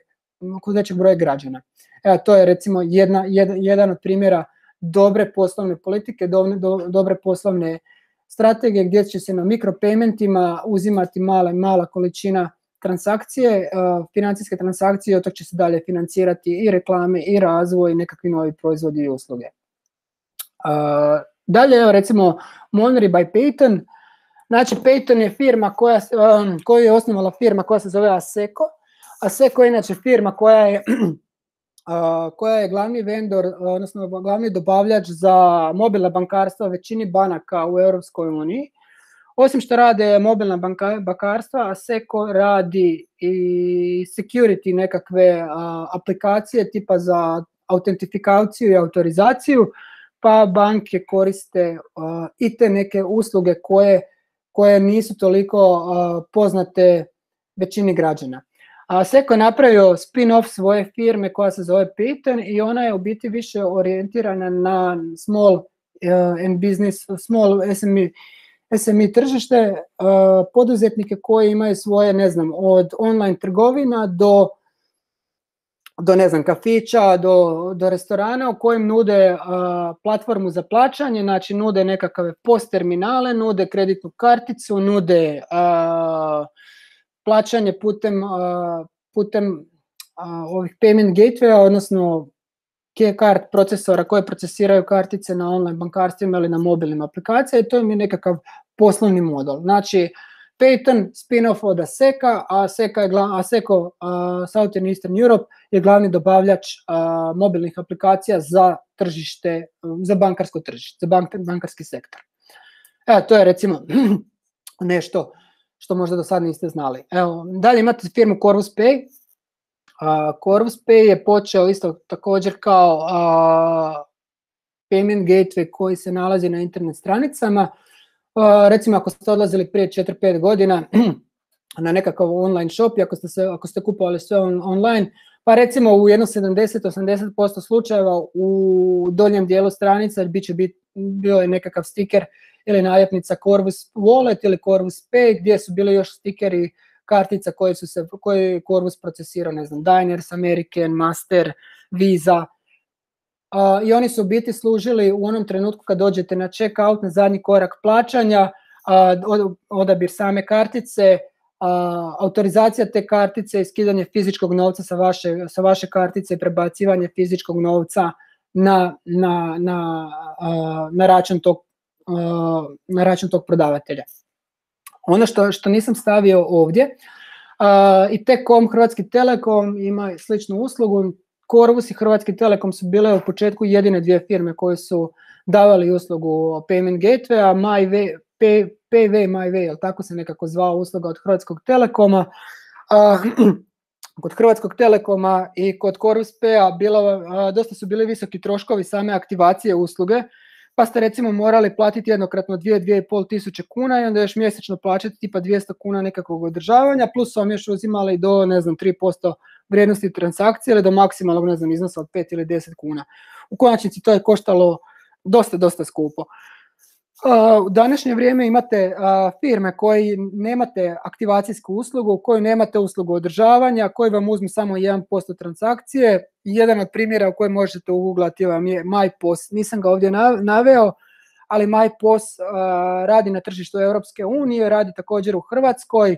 kod većeg broja građana. Evo, to je recimo jedna, jed, jedan od primjera dobre poslovne politike, do, do, dobre poslovne strategije gdje će se na mikropaymentima uzimati mala, mala količina transakcije, uh, financijske transakcije, od toga će se dalje financirati i reklame i razvoj i nekakvi novi proizvodi i usluge. Uh, dalje, evo recimo Money by Payton. Znači Payton je firma koja, um, koju je osnovala firma koja se zove Asseco. Asseco je inače firma koja je Uh, koja je glavni vendor, odnosno glavni dobavljač za mobilna bankarstva većini banaka u Europskoj uniji. Osim što rade mobilna banka, bankarstva, Asseco radi i security nekakve uh, aplikacije tipa za autentifikaciju i autorizaciju, pa banke koriste uh, i te neke usluge koje, koje nisu toliko uh, poznate većini građana. A Seco je napravio spin-off svoje firme koja se zove Payton i ona je u biti više orijentirana na small uh, and business, small S M E, S M E tržište, uh, poduzetnike koji imaju svoje, ne znam, od online trgovina do do ne znam, kafića, do, do restorana u kojim nude uh, platformu za plaćanje, znači nude nekakve post terminale, nude kreditnu karticu, nude uh, plaćanje putem, uh, putem uh, ovih payment gatewaya, odnosno key-card procesora koje procesiraju kartice na online bankarstvima ili na mobilnim aplikacijama i to im je nekakav poslovni model. Znači, Payton, spin-off od Aseka, a Aseka je gla, Aseko uh, Southern Eastern Europe je glavni dobavljač uh, mobilnih aplikacija za tržište, za bankarsko tržište, za bank, bankarski sektor. Evo, to je recimo nešto što možda do sad niste znali. Evo, dalje imate firmu Corvus Pay. Uh, Corvus Pay je počeo isto također kao uh, payment gateway koji se nalazi na internet stranicama. Uh, recimo ako ste odlazili prije četiri pet godina na nekakav online shop i ako ste, se, ako ste kupovali sve on, online, pa recimo u jedno sedamdeset do osamdeset posto slučajeva u donjem dijelu stranica bit će bit, bio je nekakav stiker ili naljepnica Corvus Wallet ili Corvus Pay gdje su bili još stikeri kartica koje su se, koje je Corvus procesirao, ne znam, Diners, American, Master, Visa. Uh, I oni su u biti služili u onom trenutku kad dođete na check-out, na zadnji korak plaćanja, uh, odabir same kartice, uh, autorizacija te kartice i skidanje fizičkog novca sa vaše, sa vaše kartice i prebacivanje fizičkog novca na, na, na, uh, na, račun tog, uh, na račun tog prodavatelja. Ono što, što nisam stavio ovdje, uh, i T-Com, Hrvatski Telekom ima sličnu uslugu. Corvus i Hrvatski Telekom su bile u početku jedine dvije firme koje su davali uslugu Payment Gateway, a MyWay, Pay, PayWay, MyWay, tako se nekako zvao usluga od Hrvatskog Telekoma. Uh, kod Hrvatskog Telekoma i kod Corvus Paya bilo, uh, dosta su bili visoki troškovi same aktivacije usluge, pa ste recimo morali platiti jednokratno dvije do dvije i pol tisuće kuna i onda još mjesečno plaćati tipa dvjesto kuna nekakvog održavanja, plus su vam još uzimali do, ne znam, tri posto vrijednosti transakcije ili do maksimalnog, ne znam, iznosa od pet ili deset kuna. U konačnici to je koštalo dosta, dosta skupo. Uh, u današnje vrijeme imate uh, firme koji nemate aktivacijsku uslugu, koji nemate uslugu održavanja, koji vam uzmu samo jedan posto transakcije. Jedan od primjera u kojem možete uguglati vam je MyPos. Nisam ga ovdje naveo, ali MyPos uh, radi na tržištu Europske unije, radi također u Hrvatskoj.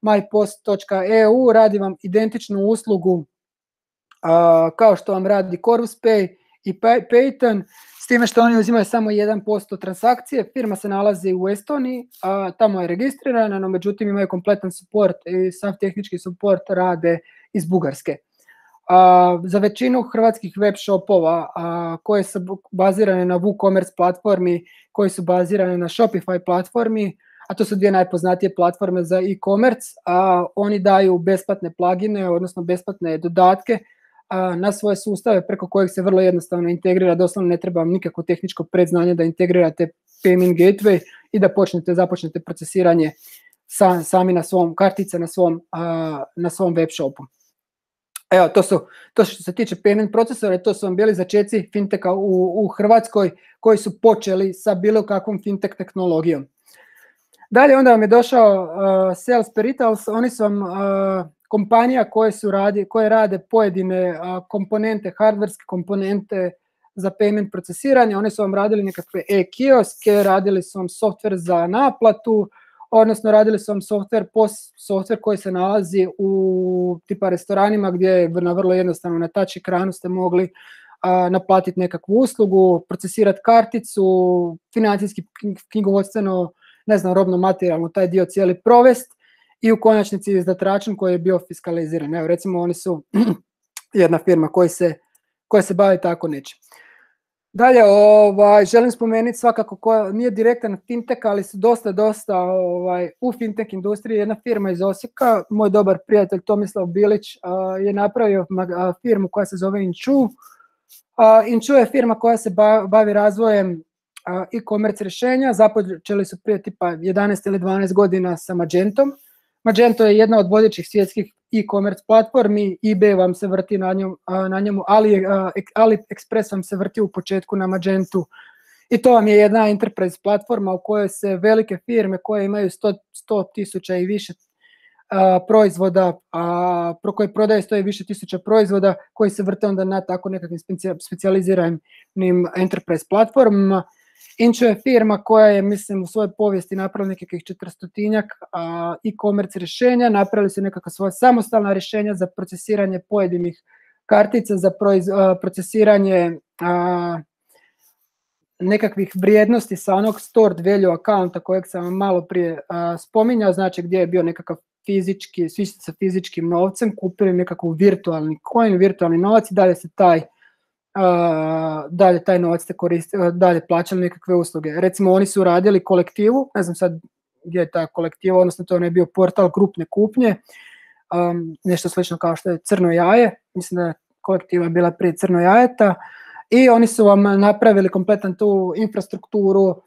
mypos točka e u radi vam identičnu uslugu uh, kao što vam radi Corvus Pay i Payton, s time što oni uzimaju samo jedan posto transakcije. Firma se nalazi u Estoniji, uh, tamo je registrirana, no međutim imaju kompletan support i sav tehnički support rade iz Bugarske. Uh, za većinu hrvatskih web shopova uh, koje su bazirane na WooCommerce platformi, koji su bazirane na Shopify platformi, a to su dvije najpoznatije platforme za e-commerce, a oni daju besplatne plugine, odnosno besplatne dodatke a, na svoje sustave preko kojih se vrlo jednostavno integrira, doslovno ne treba vam nikakvo tehničko predznanje da integrirate payment gateway i da počnete, započnete procesiranje sa, sami na svom kartice, na svom, a, na svom web shopu. Evo, to su, to što se tiče payment procesora, to su vam bili začeci finteka u, u Hrvatskoj koji su počeli sa bilo kakvom fintech tehnologijom. Dalje onda vam je došao uh, Sales Peritals, oni su vam uh, kompanija koje, su radi, koje rade pojedine uh, komponente, hardverske komponente za payment procesiranje. Oni su vam radili nekakve e-kioske, radili su vam software za naplatu, odnosno radili su vam software, post software koji se nalazi u tipa restoranima gdje na vrlo jednostavno na touch ekranu ste mogli uh, naplatiti nekakvu uslugu, procesirati karticu, financijski, knjigovodstveno, ne znam, robno materijalno taj dio cijeli provest i u konačnici izdat račun koji je bio fiskaliziran. Evo, recimo, oni su jedna firma koja se, koja se bavi tako nečim. Dalje, ovaj, želim spomenuti svakako koja nije direktan fintech, ali su dosta, dosta ovaj, u fintech industriji. Jedna firma iz Osijeka, moj dobar prijatelj Tomislav Bilić uh, je napravio uh, firmu koja se zove Inchu. Uh, Inchu je firma koja se bavi razvojem e-commerce rješenja, započeli su prije tipa jedanaest ili dvanaest godina sa Magentom. Magento je jedna od vodećih svjetskih e-commerce platformi, eBay vam se vrti na, njom, na njemu, Ali, AliExpress vam se vrti u početku na Magentu. I to vam je jedna enterprise platforma u kojoj se velike firme koje imaju sto tisuća i više a, proizvoda, a, pro koje prodaje sto i više tisuća proizvoda koji se vrte onda na tako nekakvim specijaliziranim enterprise platformama. Inčo je firma koja je, mislim, u svojoj povijesti napravila nekakvih četristotinjak e-commerce rješenja, napravili su nekakva svoja samostalna rješenja za procesiranje pojedinih kartica, za proiz, a, procesiranje a, nekakvih vrijednosti sa onog stored value accounta kojeg sam vam malo prije a, spominjao, znači gdje je bio nekakav fizički, svi sa fizičkim novcem, kupili nekakav virtualni coin, virtualni novac i dalje se taj Uh, dalje taj novac ste koristili, dalje plaćali nekakve usluge. Recimo oni su radili kolektivu, ne znam sad gdje je ta kolektiva, odnosno to je bio portal grupne kupnje, um, nešto slično kao što je Crno jaje, mislim da je kolektiva bila prije Crno jajeta, i oni su vam napravili kompletan tu infrastrukturu, uh,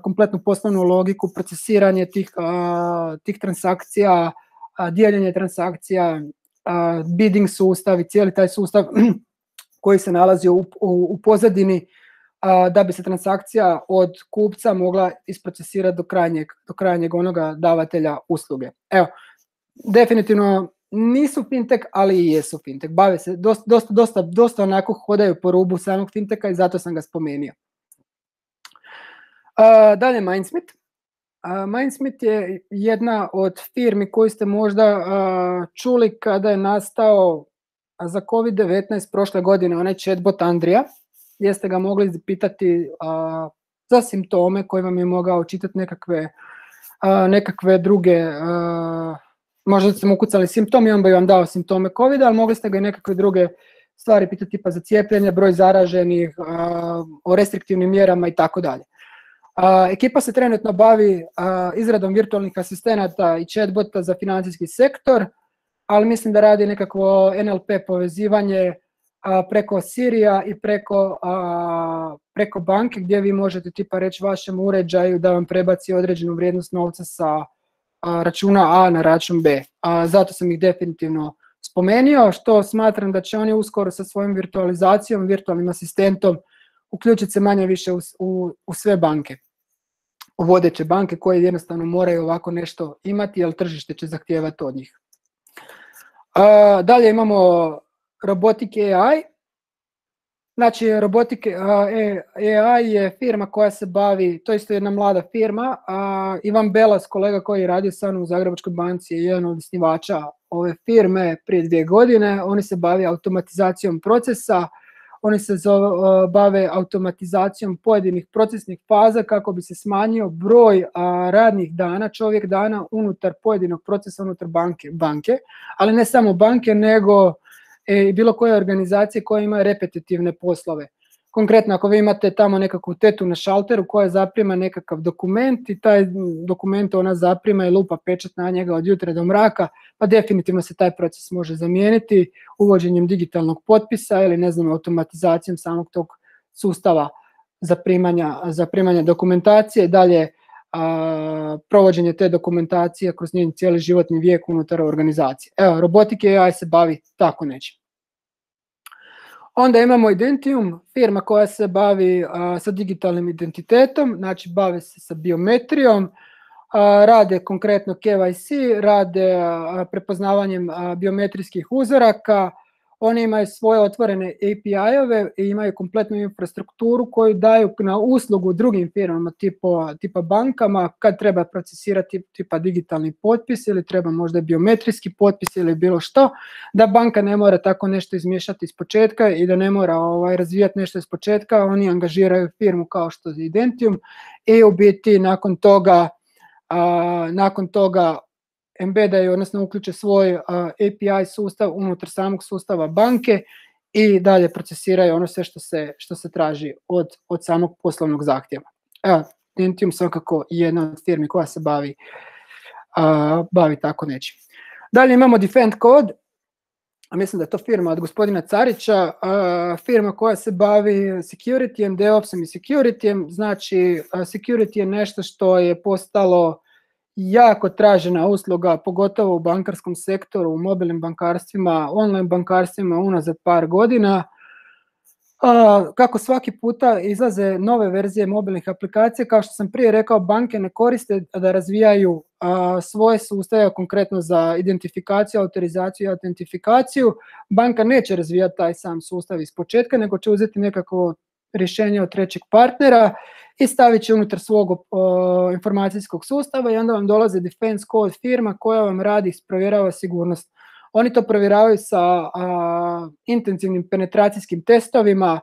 kompletnu poslovnu logiku, procesiranje tih, uh, tih transakcija, uh, dijeljenje transakcija, uh, bidding sustav i cijeli taj sustav koji se nalazi u, u, u pozadini a, da bi se transakcija od kupca mogla isprocesirati do krajnjeg, do krajnjeg onoga davatelja usluge. Evo, definitivno nisu fintech, ali i jesu fintech. Bave se, dosta, dosta, dosta, dosta onako hodaju po rubu samog fintecha i zato sam ga spomenuo. A, dalje Mindsmith. A, Mindsmith je jedna od firmi koju ste možda a, čuli kada je nastao za kovid devetnaest prošle godine, onaj chatbot Andrija, gdje ste ga mogli pitati a, za simptome koji vam je mogao čitati nekakve, a, nekakve druge, a, možda ste mu ukucali simptom i on bi vam dao simptome covida, ali mogli ste ga i nekakve druge stvari pitati tipa za cijepljenje, broj zaraženih, a, o restriktivnim mjerama i tako dalje. Ekipa se trenutno bavi a, izradom virtualnih asistenata i chatbota za financijski sektor, ali mislim da radi nekakvo en el pe povezivanje a, preko Sirija i preko, a, preko banke gdje vi možete tipa reći vašem uređaju da vam prebaci određenu vrijednost novca sa a, računa A na račun B. A, zato sam ih definitivno spomenuo, što smatram da će oni uskoro sa svojom virtualizacijom, virtualnim asistentom uključiti se manje više u, u, u sve banke, u vodeće banke koje jednostavno moraju ovako nešto imati jer tržište će zahtijevati od njih. Uh, dalje imamo Robotic a i. Znači, Robotic a i je firma koja se bavi, to je isto jedna mlada firma. Uh, Ivan Belas, kolega koji je radio sa mnom u Zagrebačkoj banci, je jedan od osnivača ove firme prije dvije godine. Oni se bavi automatizacijom procesa, oni se zove, uh, bave automatizacijom pojedinih procesnih faza kako bi se smanjio broj uh, radnih dana, čovjek dana unutar pojedinog procesa unutar banke, banke, ali ne samo banke, nego i e, bilo koje organizacije koje imaju repetitivne poslove. Konkretno, ako vi imate tamo nekakvu tetu na šalteru koja zaprima nekakav dokument i taj dokument ona zaprima i lupa pečat na njega od jutra do mraka, pa definitivno se taj proces može zamijeniti uvođenjem digitalnog potpisa ili ne znam automatizacijom samog tog sustava zaprimanja, zaprimanja dokumentacije, dalje a, provođenje te dokumentacije kroz njen cijeli životni vijek unutar organizacije. Evo, Robotic a i se bavi tako nečim. Onda imamo Identium, firma koja se bavi a, sa digitalnim identitetom, znači bave se sa biometrijom, a, rade konkretno kevaj si, rade a, prepoznavanjem a, biometrijskih uzoraka, oni imaju svoje otvorene a pe i-ove i imaju kompletnu infrastrukturu koju daju na uslugu drugim firmama tipa, tipa bankama kad treba procesirati tipa digitalni potpis ili treba možda biometrijski potpis ili bilo što, da banka ne mora tako nešto izmiješati iz početka i da ne mora ovaj, razvijati nešto iz početka, oni angažiraju firmu kao što je Identium i u biti nakon toga, a, nakon toga embedaju, odnosno uključe svoj uh, a pe i sustav unutar samog sustava banke i dalje procesiraju ono sve što se, što se traži od, od samog poslovnog zahtjeva. Evo, Identium svakako je jedna od firmi koja se bavi, uh, bavi tako nečim. Dalje imamo Defend Code, a mislim da je to firma od gospodina Carića, uh, firma koja se bavi securityjem, DevOpsom i securityjem, znači uh, security je nešto što je postalo jako tražena usluga, pogotovo u bankarskom sektoru, u mobilnim bankarstvima, online bankarstvima unazad par godina. Kako svaki puta izlaze nove verzije mobilnih aplikacija, kao što sam prije rekao, banke ne koriste da razvijaju svoje sustave, konkretno za identifikaciju, autorizaciju i autentifikaciju. Banka neće razvijati taj sam sustav iz početka, nego će uzeti nekakvo rješenje od trećeg partnera i stavit će unutar svog uh, informacijskog sustava i onda vam dolazi Defense Code firma koja vam radi, provjerava sigurnost. Oni to provjeravaju sa uh, intenzivnim penetracijskim testovima, uh,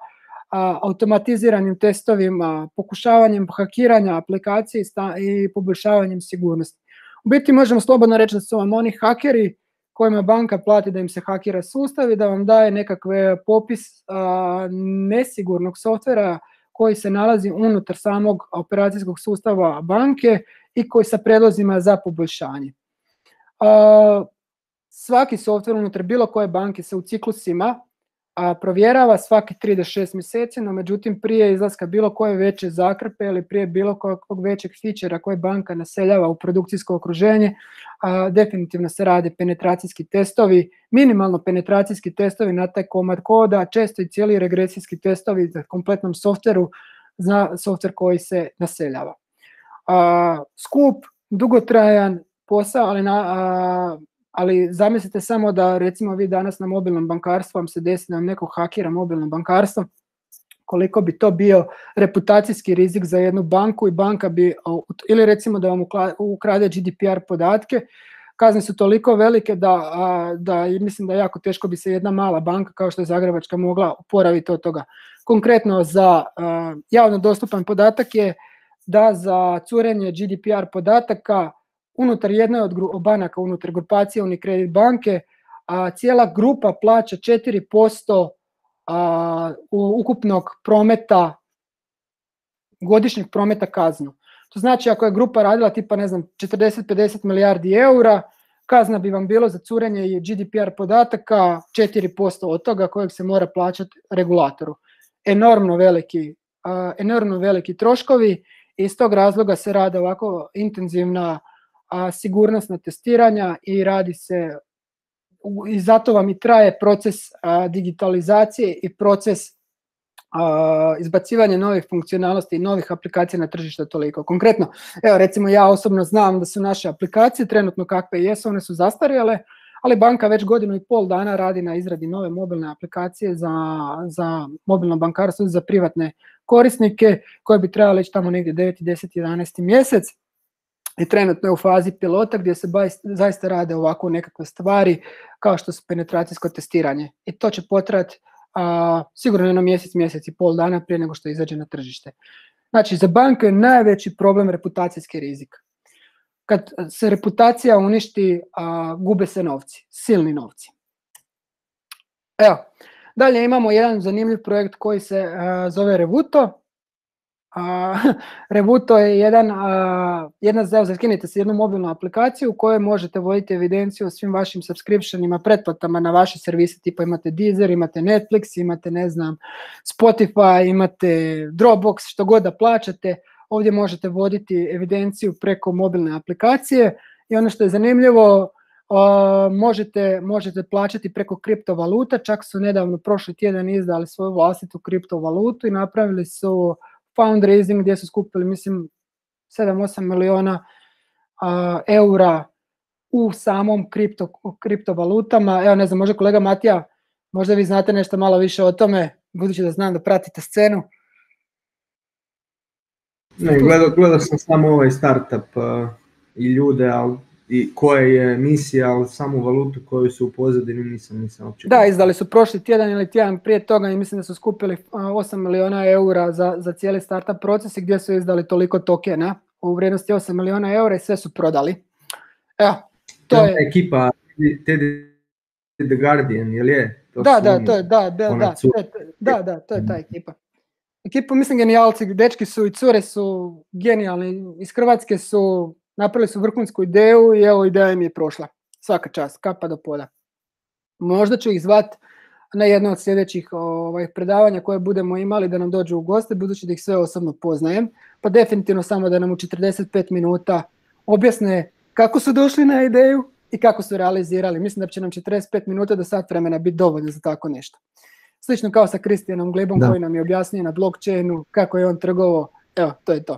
automatiziranim testovima, pokušavanjem hakiranja aplikacije i poboljšavanjem sigurnosti. U biti možemo slobodno reći da su vam oni hakeri kojima banka plati da im se hakira sustav i da vam daje nekakve popis uh, nesigurnog softvera koji se nalazi unutar samog operacijskog sustava banke i koji sa prijedlozima za poboljšanje. Uh, svaki softver unutar bilo koje banke se u ciklusima a, provjerava svaki tri do šest mjeseci, no međutim prije izlaska bilo koje veće zakrpe ili prije bilo kojeg većeg fičera koje banka naseljava u produkcijsko okruženje, a, definitivno se rade penetracijski testovi, minimalno penetracijski testovi na taj komad koda, često i cijeli regresijski testovi za kompletnom softveru za softver koji se naseljava. A, skup, dugotrajan posao, ali, na, a, ali zamislite samo da recimo vi danas na mobilnom bankarstvu vam se desi da vam neko hakira mobilno bankarstvo, koliko bi to bio reputacijski rizik za jednu banku i banka bi, ili recimo da vam ukrade G D P R podatke, kazne su toliko velike da, da mislim da jako teško bi se jedna mala banka kao što je Zagrebačka mogla oporaviti od toga. Konkretno za javno dostupan podatak je da za curenje G D P R podataka unutar jedne od banaka, unutar grupacije Unicredit banke, a cijela grupa plaća četiri posto a, ukupnog prometa, godišnjeg prometa kaznu. To znači ako je grupa radila tipa ne znam četrdeset do pedeset milijardi eura, kazna bi vam bilo za curenje G D P R podataka četiri posto od toga kojeg se mora plaćati regulatoru. Enormno veliki, a, enormno veliki troškovi i iz tog razloga se rade ovako intenzivna a, sigurnosna testiranja i radi se, i zato vam i traje proces a, digitalizacije i proces a, izbacivanja novih funkcionalnosti i novih aplikacija na tržište toliko. Konkretno, evo recimo ja osobno znam da su naše aplikacije trenutno kakve jesu, one su zastarjele, ali banka već godinu i pol dana radi na izradi nove mobilne aplikacije za, za mobilno bankarstvo, za privatne korisnike koje bi trebali ići tamo negdje deveti, deseti, jedanaesti mjesec. I trenutno je u fazi pilota gdje se zaista rade ovako nekakve stvari kao što su penetracijsko testiranje. I to će potrati sigurno jedno mjesec, mjesec i pol dana prije nego što izađe na tržište. Znači, za banke je najveći problem reputacijski rizik. Kad se reputacija uništi, a, gube se novci, silni novci. Evo, dalje imamo jedan zanimljiv projekt koji se a, zove Revuto. Uh, Revuto je jedan, uh, jedna, skinite se jednu mobilnu aplikaciju u kojoj možete voditi evidenciju o svim vašim subscriptionima, pretplatama na vaše servise, tipa imate Deezer, imate Netflix, imate ne znam Spotify, imate Dropbox, što god da plaćate, ovdje možete voditi evidenciju preko mobilne aplikacije i ono što je zanimljivo, uh, možete, možete plaćati preko kriptovaluta, čak su nedavno prošli tjedan izdali svoju vlastitu kriptovalutu i napravili su fundraising gdje su skupili, mislim, sedam do osam miliona uh, eura u samom kripto, kriptovalutama. Evo, ne znam, možda kolega Matija, možda vi znate nešto malo više o tome, budući da znam da pratite scenu. Ne, gledao, gledao sam samo ovaj startup uh, i ljude, ali i koja je misija, ali samu valutu koju su u pozadini nisam, nisam uopće. Da, izdali su prošli tjedan ili tjedan prije toga i mislim da su skupili osam miliona eura za, za cijeli startup proces i gdje su izdali toliko tokena u vrijednosti osam miliona eura i sve su prodali. Evo, to, to je... je ekipa Teddy the Guardian, jel je? To da, da, to je, da, da, da, da, da, to je ta ekipa. Ekipa, mislim, genijalci, dečki su i cure su genijalni, iz Hrvatske su... Napravili su vrhunsku ideju i evo ideja im je prošla. Svaka čast, kapa do poda. Možda ću ih zvat na jedno od sljedećih ovaj, predavanja koje budemo imali da nam dođu u goste, budući da ih sve osobno poznajem. Pa definitivno samo da nam u četrdeset pet minuta objasne kako su došli na ideju i kako su realizirali. Mislim da će nam četrdeset pet minuta do sat vremena biti dovoljno za tako nešto. Slično kao sa Kristijanom Glebom, da, koji nam je objasnio na blockchainu kako je on trgovao. Evo, to je to.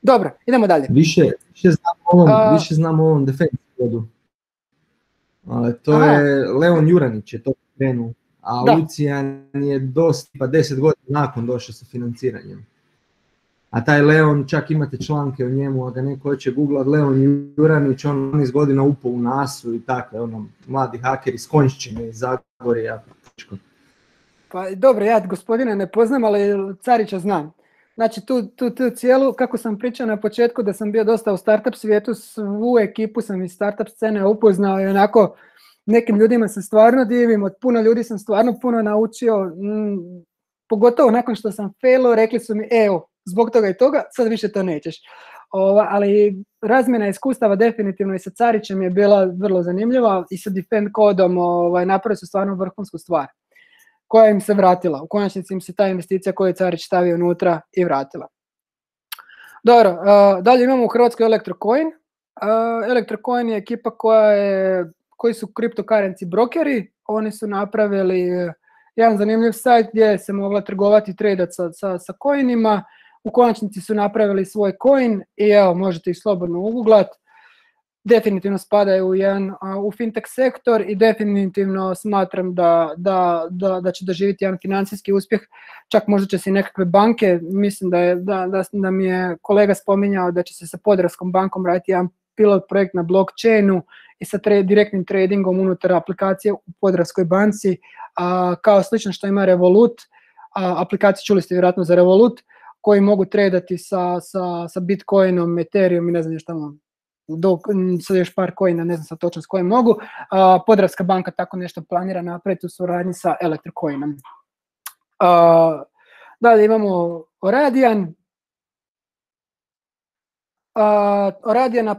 Dobro, idemo dalje. Više, više znam o ovom, A... više znam o ovom Defense kodu. To Aha. je Leon Juranić je to krenuo, a da. Lucijan je dosta, pa deset godina nakon došao sa financiranjem. A taj Leon, čak imate članke o njemu, a da neko hoće googlat Leon Juranić, on iz godina upao u nasu i tako, ono, mladi haker iz Konjšćine, iz Zagorja. Pa dobro, ja gospodina ne poznam, ali Carića znam. Znači tu, tu, tu cijelu, kako sam pričao na početku da sam bio dosta u startup svijetu, svu ekipu sam iz startup scene upoznao i onako nekim ljudima se stvarno divim, od puno ljudi sam stvarno puno naučio, mm, pogotovo nakon što sam failo, rekli su mi evo, zbog toga i toga, sad više to nećeš. Ova, ali razmjena iskustava definitivno i sa Carićem je bila vrlo zanimljiva i sa Defend kodom ovaj, napravili su stvarno vrhunsku stvar koja im se vratila. U konačnici im se ta investicija koju je Carić stavio unutra i vratila. Dobro, uh, dalje imamo u Hrvatskoj Electrocoin. Uh, Electrocoin je ekipa koja je, koji su cryptocurrency brokeri. Oni su napravili jedan zanimljiv sajt gdje se mogla trgovati i tradati sa, sa, sa coinima. U konačnici su napravili svoj coin i evo, možete ih slobodno uguglat. Definitivno spadaju u, jedan, u fintech sektor i definitivno smatram da, da, da, da će doživjeti jedan financijski uspjeh. Čak možda će se i nekakve banke, mislim da, je, da, da, da mi je kolega spominjao da će se sa Podravskom bankom raditi jedan pilot projekt na blockchainu i sa tra- direktnim tradingom unutar aplikacije u Podravskoj banci, a, kao slično što ima Revolut. A, aplikacije čuli ste vjerojatno za Revolut, koji mogu tradati sa, sa, sa Bitcoinom, Ethereum i ne znam što vam. Do, sad još par coina, ne znam sad točno s kojim mogu. Uh, Podravska banka tako nešto planira napraviti u suradnji sa Electrocoinom. Uh, dalje imamo Oradian. Uh, Oradian uh,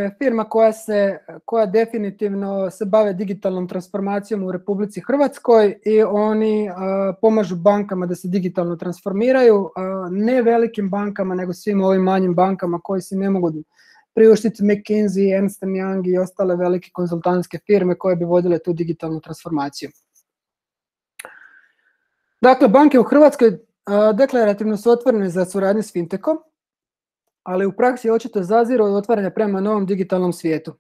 je firma koja se, koja definitivno se bave digitalnom transformacijom u Republici Hrvatskoj i oni uh, pomažu bankama da se digitalno transformiraju, uh, ne velikim bankama, nego svim ovim manjim bankama koji si ne mogu priuštiti McKinsey, Ernst and Young i ostale velike konzultantske firme koje bi vodile tu digitalnu transformaciju. Dakle, banke u Hrvatskoj a, deklarativno su otvorene za suradnju s fintechom, ali u praksi očito zaziru od otvaranja prema novom digitalnom svijetu.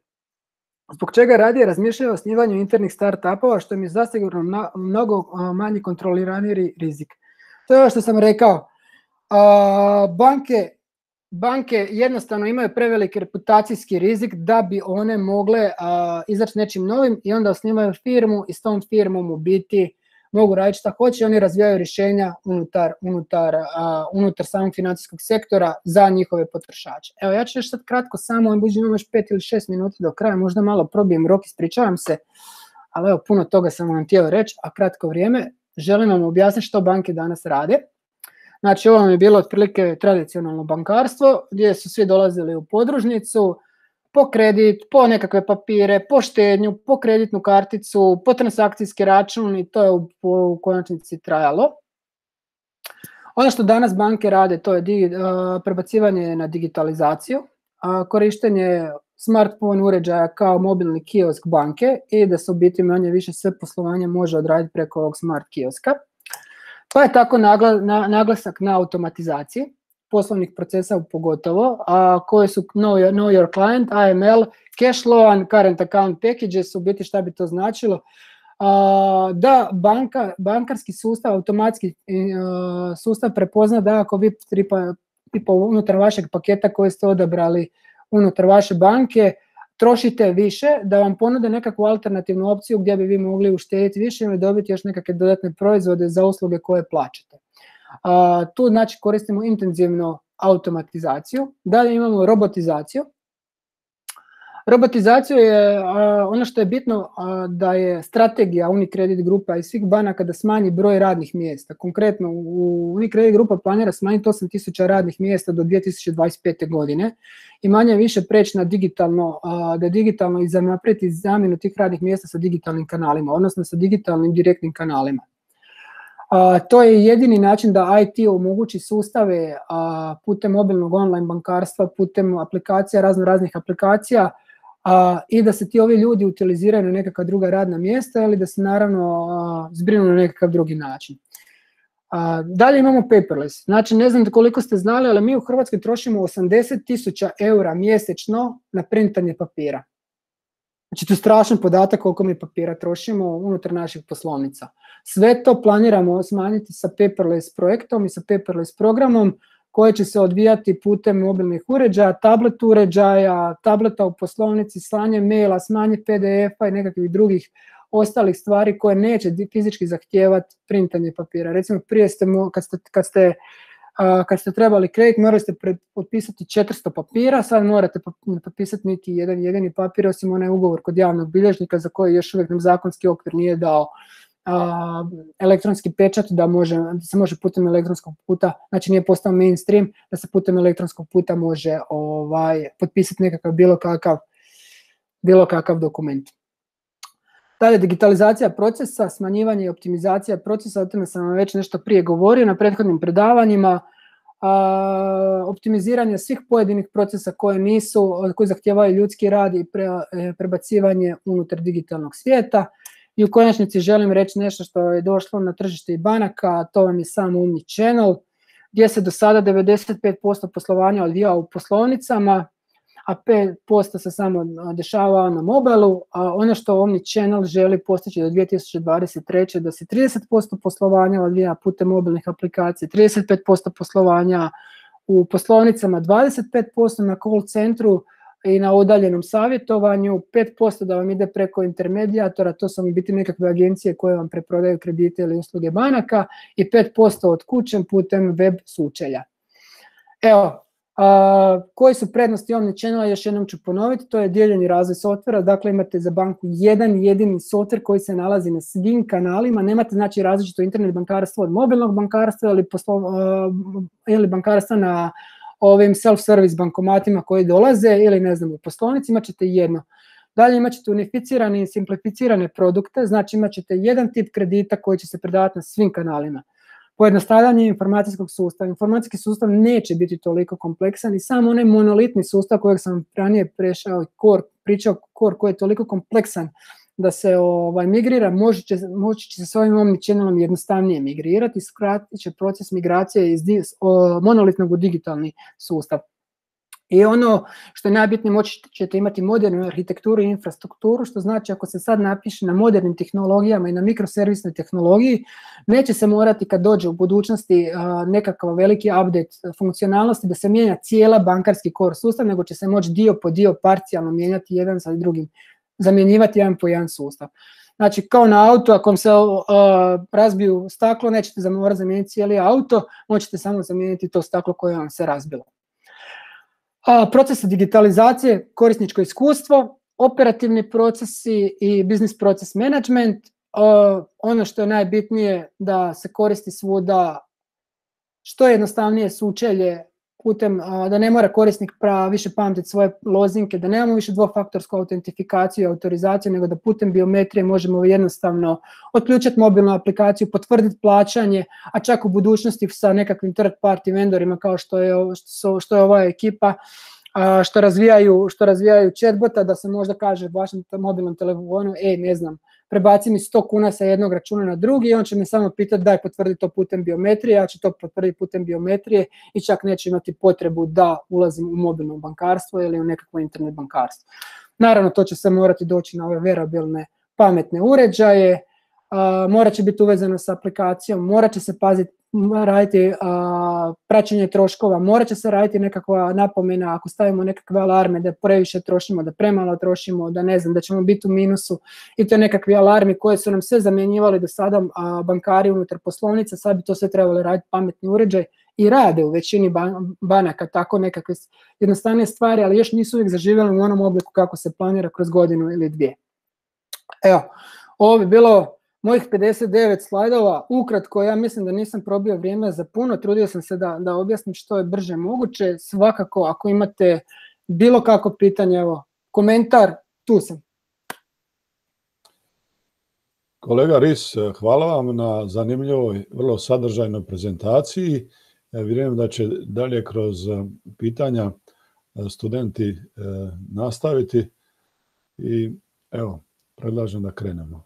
Zbog čega radije razmišljaju o osnivanju internih start-upova, što mi je zasigurno na, mnogo a, manji kontrolirani rizik. To je ovo što sam rekao. A, banke Banke jednostavno imaju preveliki reputacijski rizik da bi one mogle uh, izaći nečim novim i onda osnivaju firmu i s tom firmom u biti mogu raditi šta hoće. Oni razvijaju rješenja unutar, unutar, uh, unutar samog financijskog sektora za njihove potrošače. Evo, ja ću još sad kratko samo, imamo još pet ili šest minuta do kraja, možda malo probijem rok, ispričavam se, ali evo, puno toga sam vam htio reći, a kratko vrijeme. Želim vam objasniti što banke danas rade. Znači, ovo je bilo otprilike tradicionalno bankarstvo, gdje su svi dolazili u podružnicu, po kredit, po nekakve papire, po štednju, po kreditnu karticu, po transakcijski račun i to je u, u konačnici trajalo. Ono što danas banke rade, to je digi, uh, prebacivanje na digitalizaciju, uh, korištenje smartphone uređaja kao mobilni kiosk banke i da se u biti manje više sve poslovanje može odraditi preko ovog smart kioska. Pa je tako naglasak na automatizaciji poslovnih procesa pogotovo, a koje su know, know your client, A M L, cash loan, current account packages, u biti šta bi to značilo. A, da banka, bankarski sustav, automatski a, sustav prepozna da ako vi tripa, tipa unutar vašeg paketa koje ste odabrali unutar vaše banke, trošite više, da vam ponude nekakvu alternativnu opciju gdje bi vi mogli uštediti više ili dobiti još nekakve dodatne proizvode za usluge koje plaćate. Uh, tu znači koristimo intenzivno automatizaciju. Dalje imamo robotizaciju. Robotizaciju je uh, ono što je bitno uh, da je strategija Unicredit grupa i svih banaka da smanji broj radnih mjesta. Konkretno u Unicredit grupa planira smanjiti osam tisuća radnih mjesta do dvije tisuće dvadeset pete. godine i manje više preći na digitalno, uh, da digitalno i napraviti zamjenu tih radnih mjesta sa digitalnim kanalima, odnosno sa digitalnim direktnim kanalima. A, to je jedini način da I T omogući sustave a, putem mobilnog online bankarstva, putem aplikacija, razno raznih aplikacija, a, i da se ti ovi ljudi utiliziraju na nekakva druga radna mjesta ili da se naravno a, zbrinu na nekakav drugi način. A, dalje imamo paperless. Znači, ne znam koliko ste znali, ali mi u Hrvatskoj trošimo osamdeset tisuća eura mjesečno na printanje papira. Znači, to je strašan podatak koliko mi papira trošimo unutar naših poslovnica. Sve to planiramo smanjiti sa paperless projektom i sa paperless programom koji će se odvijati putem mobilnih uređaja, tablet uređaja, tableta u poslovnici, slanje maila, smanje P D F-a i nekakvih drugih ostalih stvari koje neće fizički zahtijevati printanje papira. Recimo, prije ste, kad ste, kad ste, uh, kad ste trebali kredit, morali ste potpisati četiristo papira, sad morate ne potpisati niti jedan jedini papir, osim onaj ugovor kod javnog bilježnika za koji još uvijek nam zakonski okvir nije dao uh, elektronski pečat da, može, da se može putem elektronskog puta, znači nije postao mainstream, da se putem elektronskog puta može ovaj, potpisati nekakav bilo kakav, bilo kakav dokument. Dalje, digitalizacija procesa, smanjivanje i optimizacija procesa, o tome sam vam već nešto prije govorio na prethodnim predavanjima, a, optimiziranje svih pojedinih procesa koje nisu, koji zahtijevaju ljudski rad i pre, prebacivanje unutar digitalnog svijeta. I u konačnici želim reći nešto što je došlo na tržište i banaka, a to vam je sam omnichannel, gdje se do sada devedeset pet posto poslovanja odvijao u poslovnicama, a pet posto se samo dešava na mobilu, a ono što omnichannel želi postići do dvije tisuće dvadeset treće da se trideset posto poslovanja odvija putem mobilnih aplikacija, trideset pet posto poslovanja u poslovnicama, dvadeset pet posto na call centru i na udaljenom savjetovanju, pet posto da vam ide preko intermedijatora, to su biti nekakve agencije koje vam preprodaju kredite ili usluge banaka, i pet posto od kuće putem web sučelja. Evo, Uh, koji su prednosti omnichannela, još jednom ću ponoviti, to je dijeljeni razvoj softvera, dakle imate za banku jedan jedini softver koji se nalazi na svim kanalima, nemate znači različito internet bankarstvo od mobilnog bankarstva ili, poslo, uh, ili bankarstva na ovim self-service bankomatima koji dolaze ili ne znam u poslovnici, imat ćete jedno. Dalje imat ćete unificirane i simplificirane produkte, znači imat ćete jedan tip kredita koji će se predavati na svim kanalima. Pojednostavljanje informacijskog sustava. Informacijski sustav neće biti toliko kompleksan i samo onaj monolitni sustav kojeg sam ranije prešao, core, pričao core koji je toliko kompleksan da se ovaj, migrira, moći će, moći će se s ovim omnichannelom jednostavnije migrirati i skratit će proces migracije iz o, monolitnog u digitalni sustav. I ono što je najbitnije, moći ćete imati modernu arhitekturu i infrastrukturu, što znači ako se sad napiše na modernim tehnologijama i na mikroservisnoj tehnologiji, neće se morati kad dođe u budućnosti uh, nekakav veliki update funkcionalnosti da se mijenja cijela bankarski core sustav, nego će se moći dio po dio parcijalno mijenjati jedan sa drugim, zamjenjivati jedan po jedan sustav. Znači, kao na auto, ako se uh, razbiju staklo, nećete morati zamijeniti cijeli auto, možete samo zamijeniti to staklo koje vam se razbilo. Procese digitalizacije, korisničko iskustvo, operativni procesi i business process management. Ono što je najbitnije da se koristi svuda što jednostavnije sučelje putem, da ne mora korisnik pra, više pamtiti svoje lozinke, da nemamo više dvofaktorsku autentifikaciju i autorizaciju, nego da putem biometrije možemo jednostavno otključati mobilnu aplikaciju, potvrditi plaćanje, a čak u budućnosti sa nekakvim third party vendorima kao što je, što, što je ova ekipa, što razvijaju, što razvijaju chatbota, da se možda kaže vašem mobilnom telefonu, e, ne znam, prebaci mi sto kuna sa jednog računa na drugi i on će me samo pitati daj potvrdi to putem biometrije, ja ću to potvrditi putem biometrije i čak neće imati potrebu da ulazim u mobilno bankarstvo ili u nekakvo internet bankarstvo. Naravno, to će se morati doći na ove wearabilne pametne uređaje, uh, morat će biti uvezano s aplikacijom, morat će se paziti, raditi uh, praćenje troškova, morat će se raditi nekakva napomena ako stavimo nekakve alarme da previše trošimo, da premalo trošimo, da ne znam, da ćemo biti u minusu i to nekakvi alarmi koje su nam sve zamjenjivali do sada uh, bankari unutar poslovnica, sad bi to sve trebali raditi pametni uređaj i rade u većini ban banaka tako nekakve jednostavne stvari, ali još nisu uvijek zaživjeli u onom obliku kako se planira kroz godinu ili dvije. Evo, ovo bi bilo mojih pedeset devet slajdova, ukratko, ja mislim da nisam probio vrijeme za puno, trudio sam se da, da objasnim što je brže moguće, svakako ako imate bilo kako pitanje, evo, komentar, tu sam. Kolega Ris, hvala vam na zanimljivoj, vrlo sadržajnoj prezentaciji. Vjerujem da će dalje kroz pitanja studenti nastaviti i evo, predlažem da krenemo.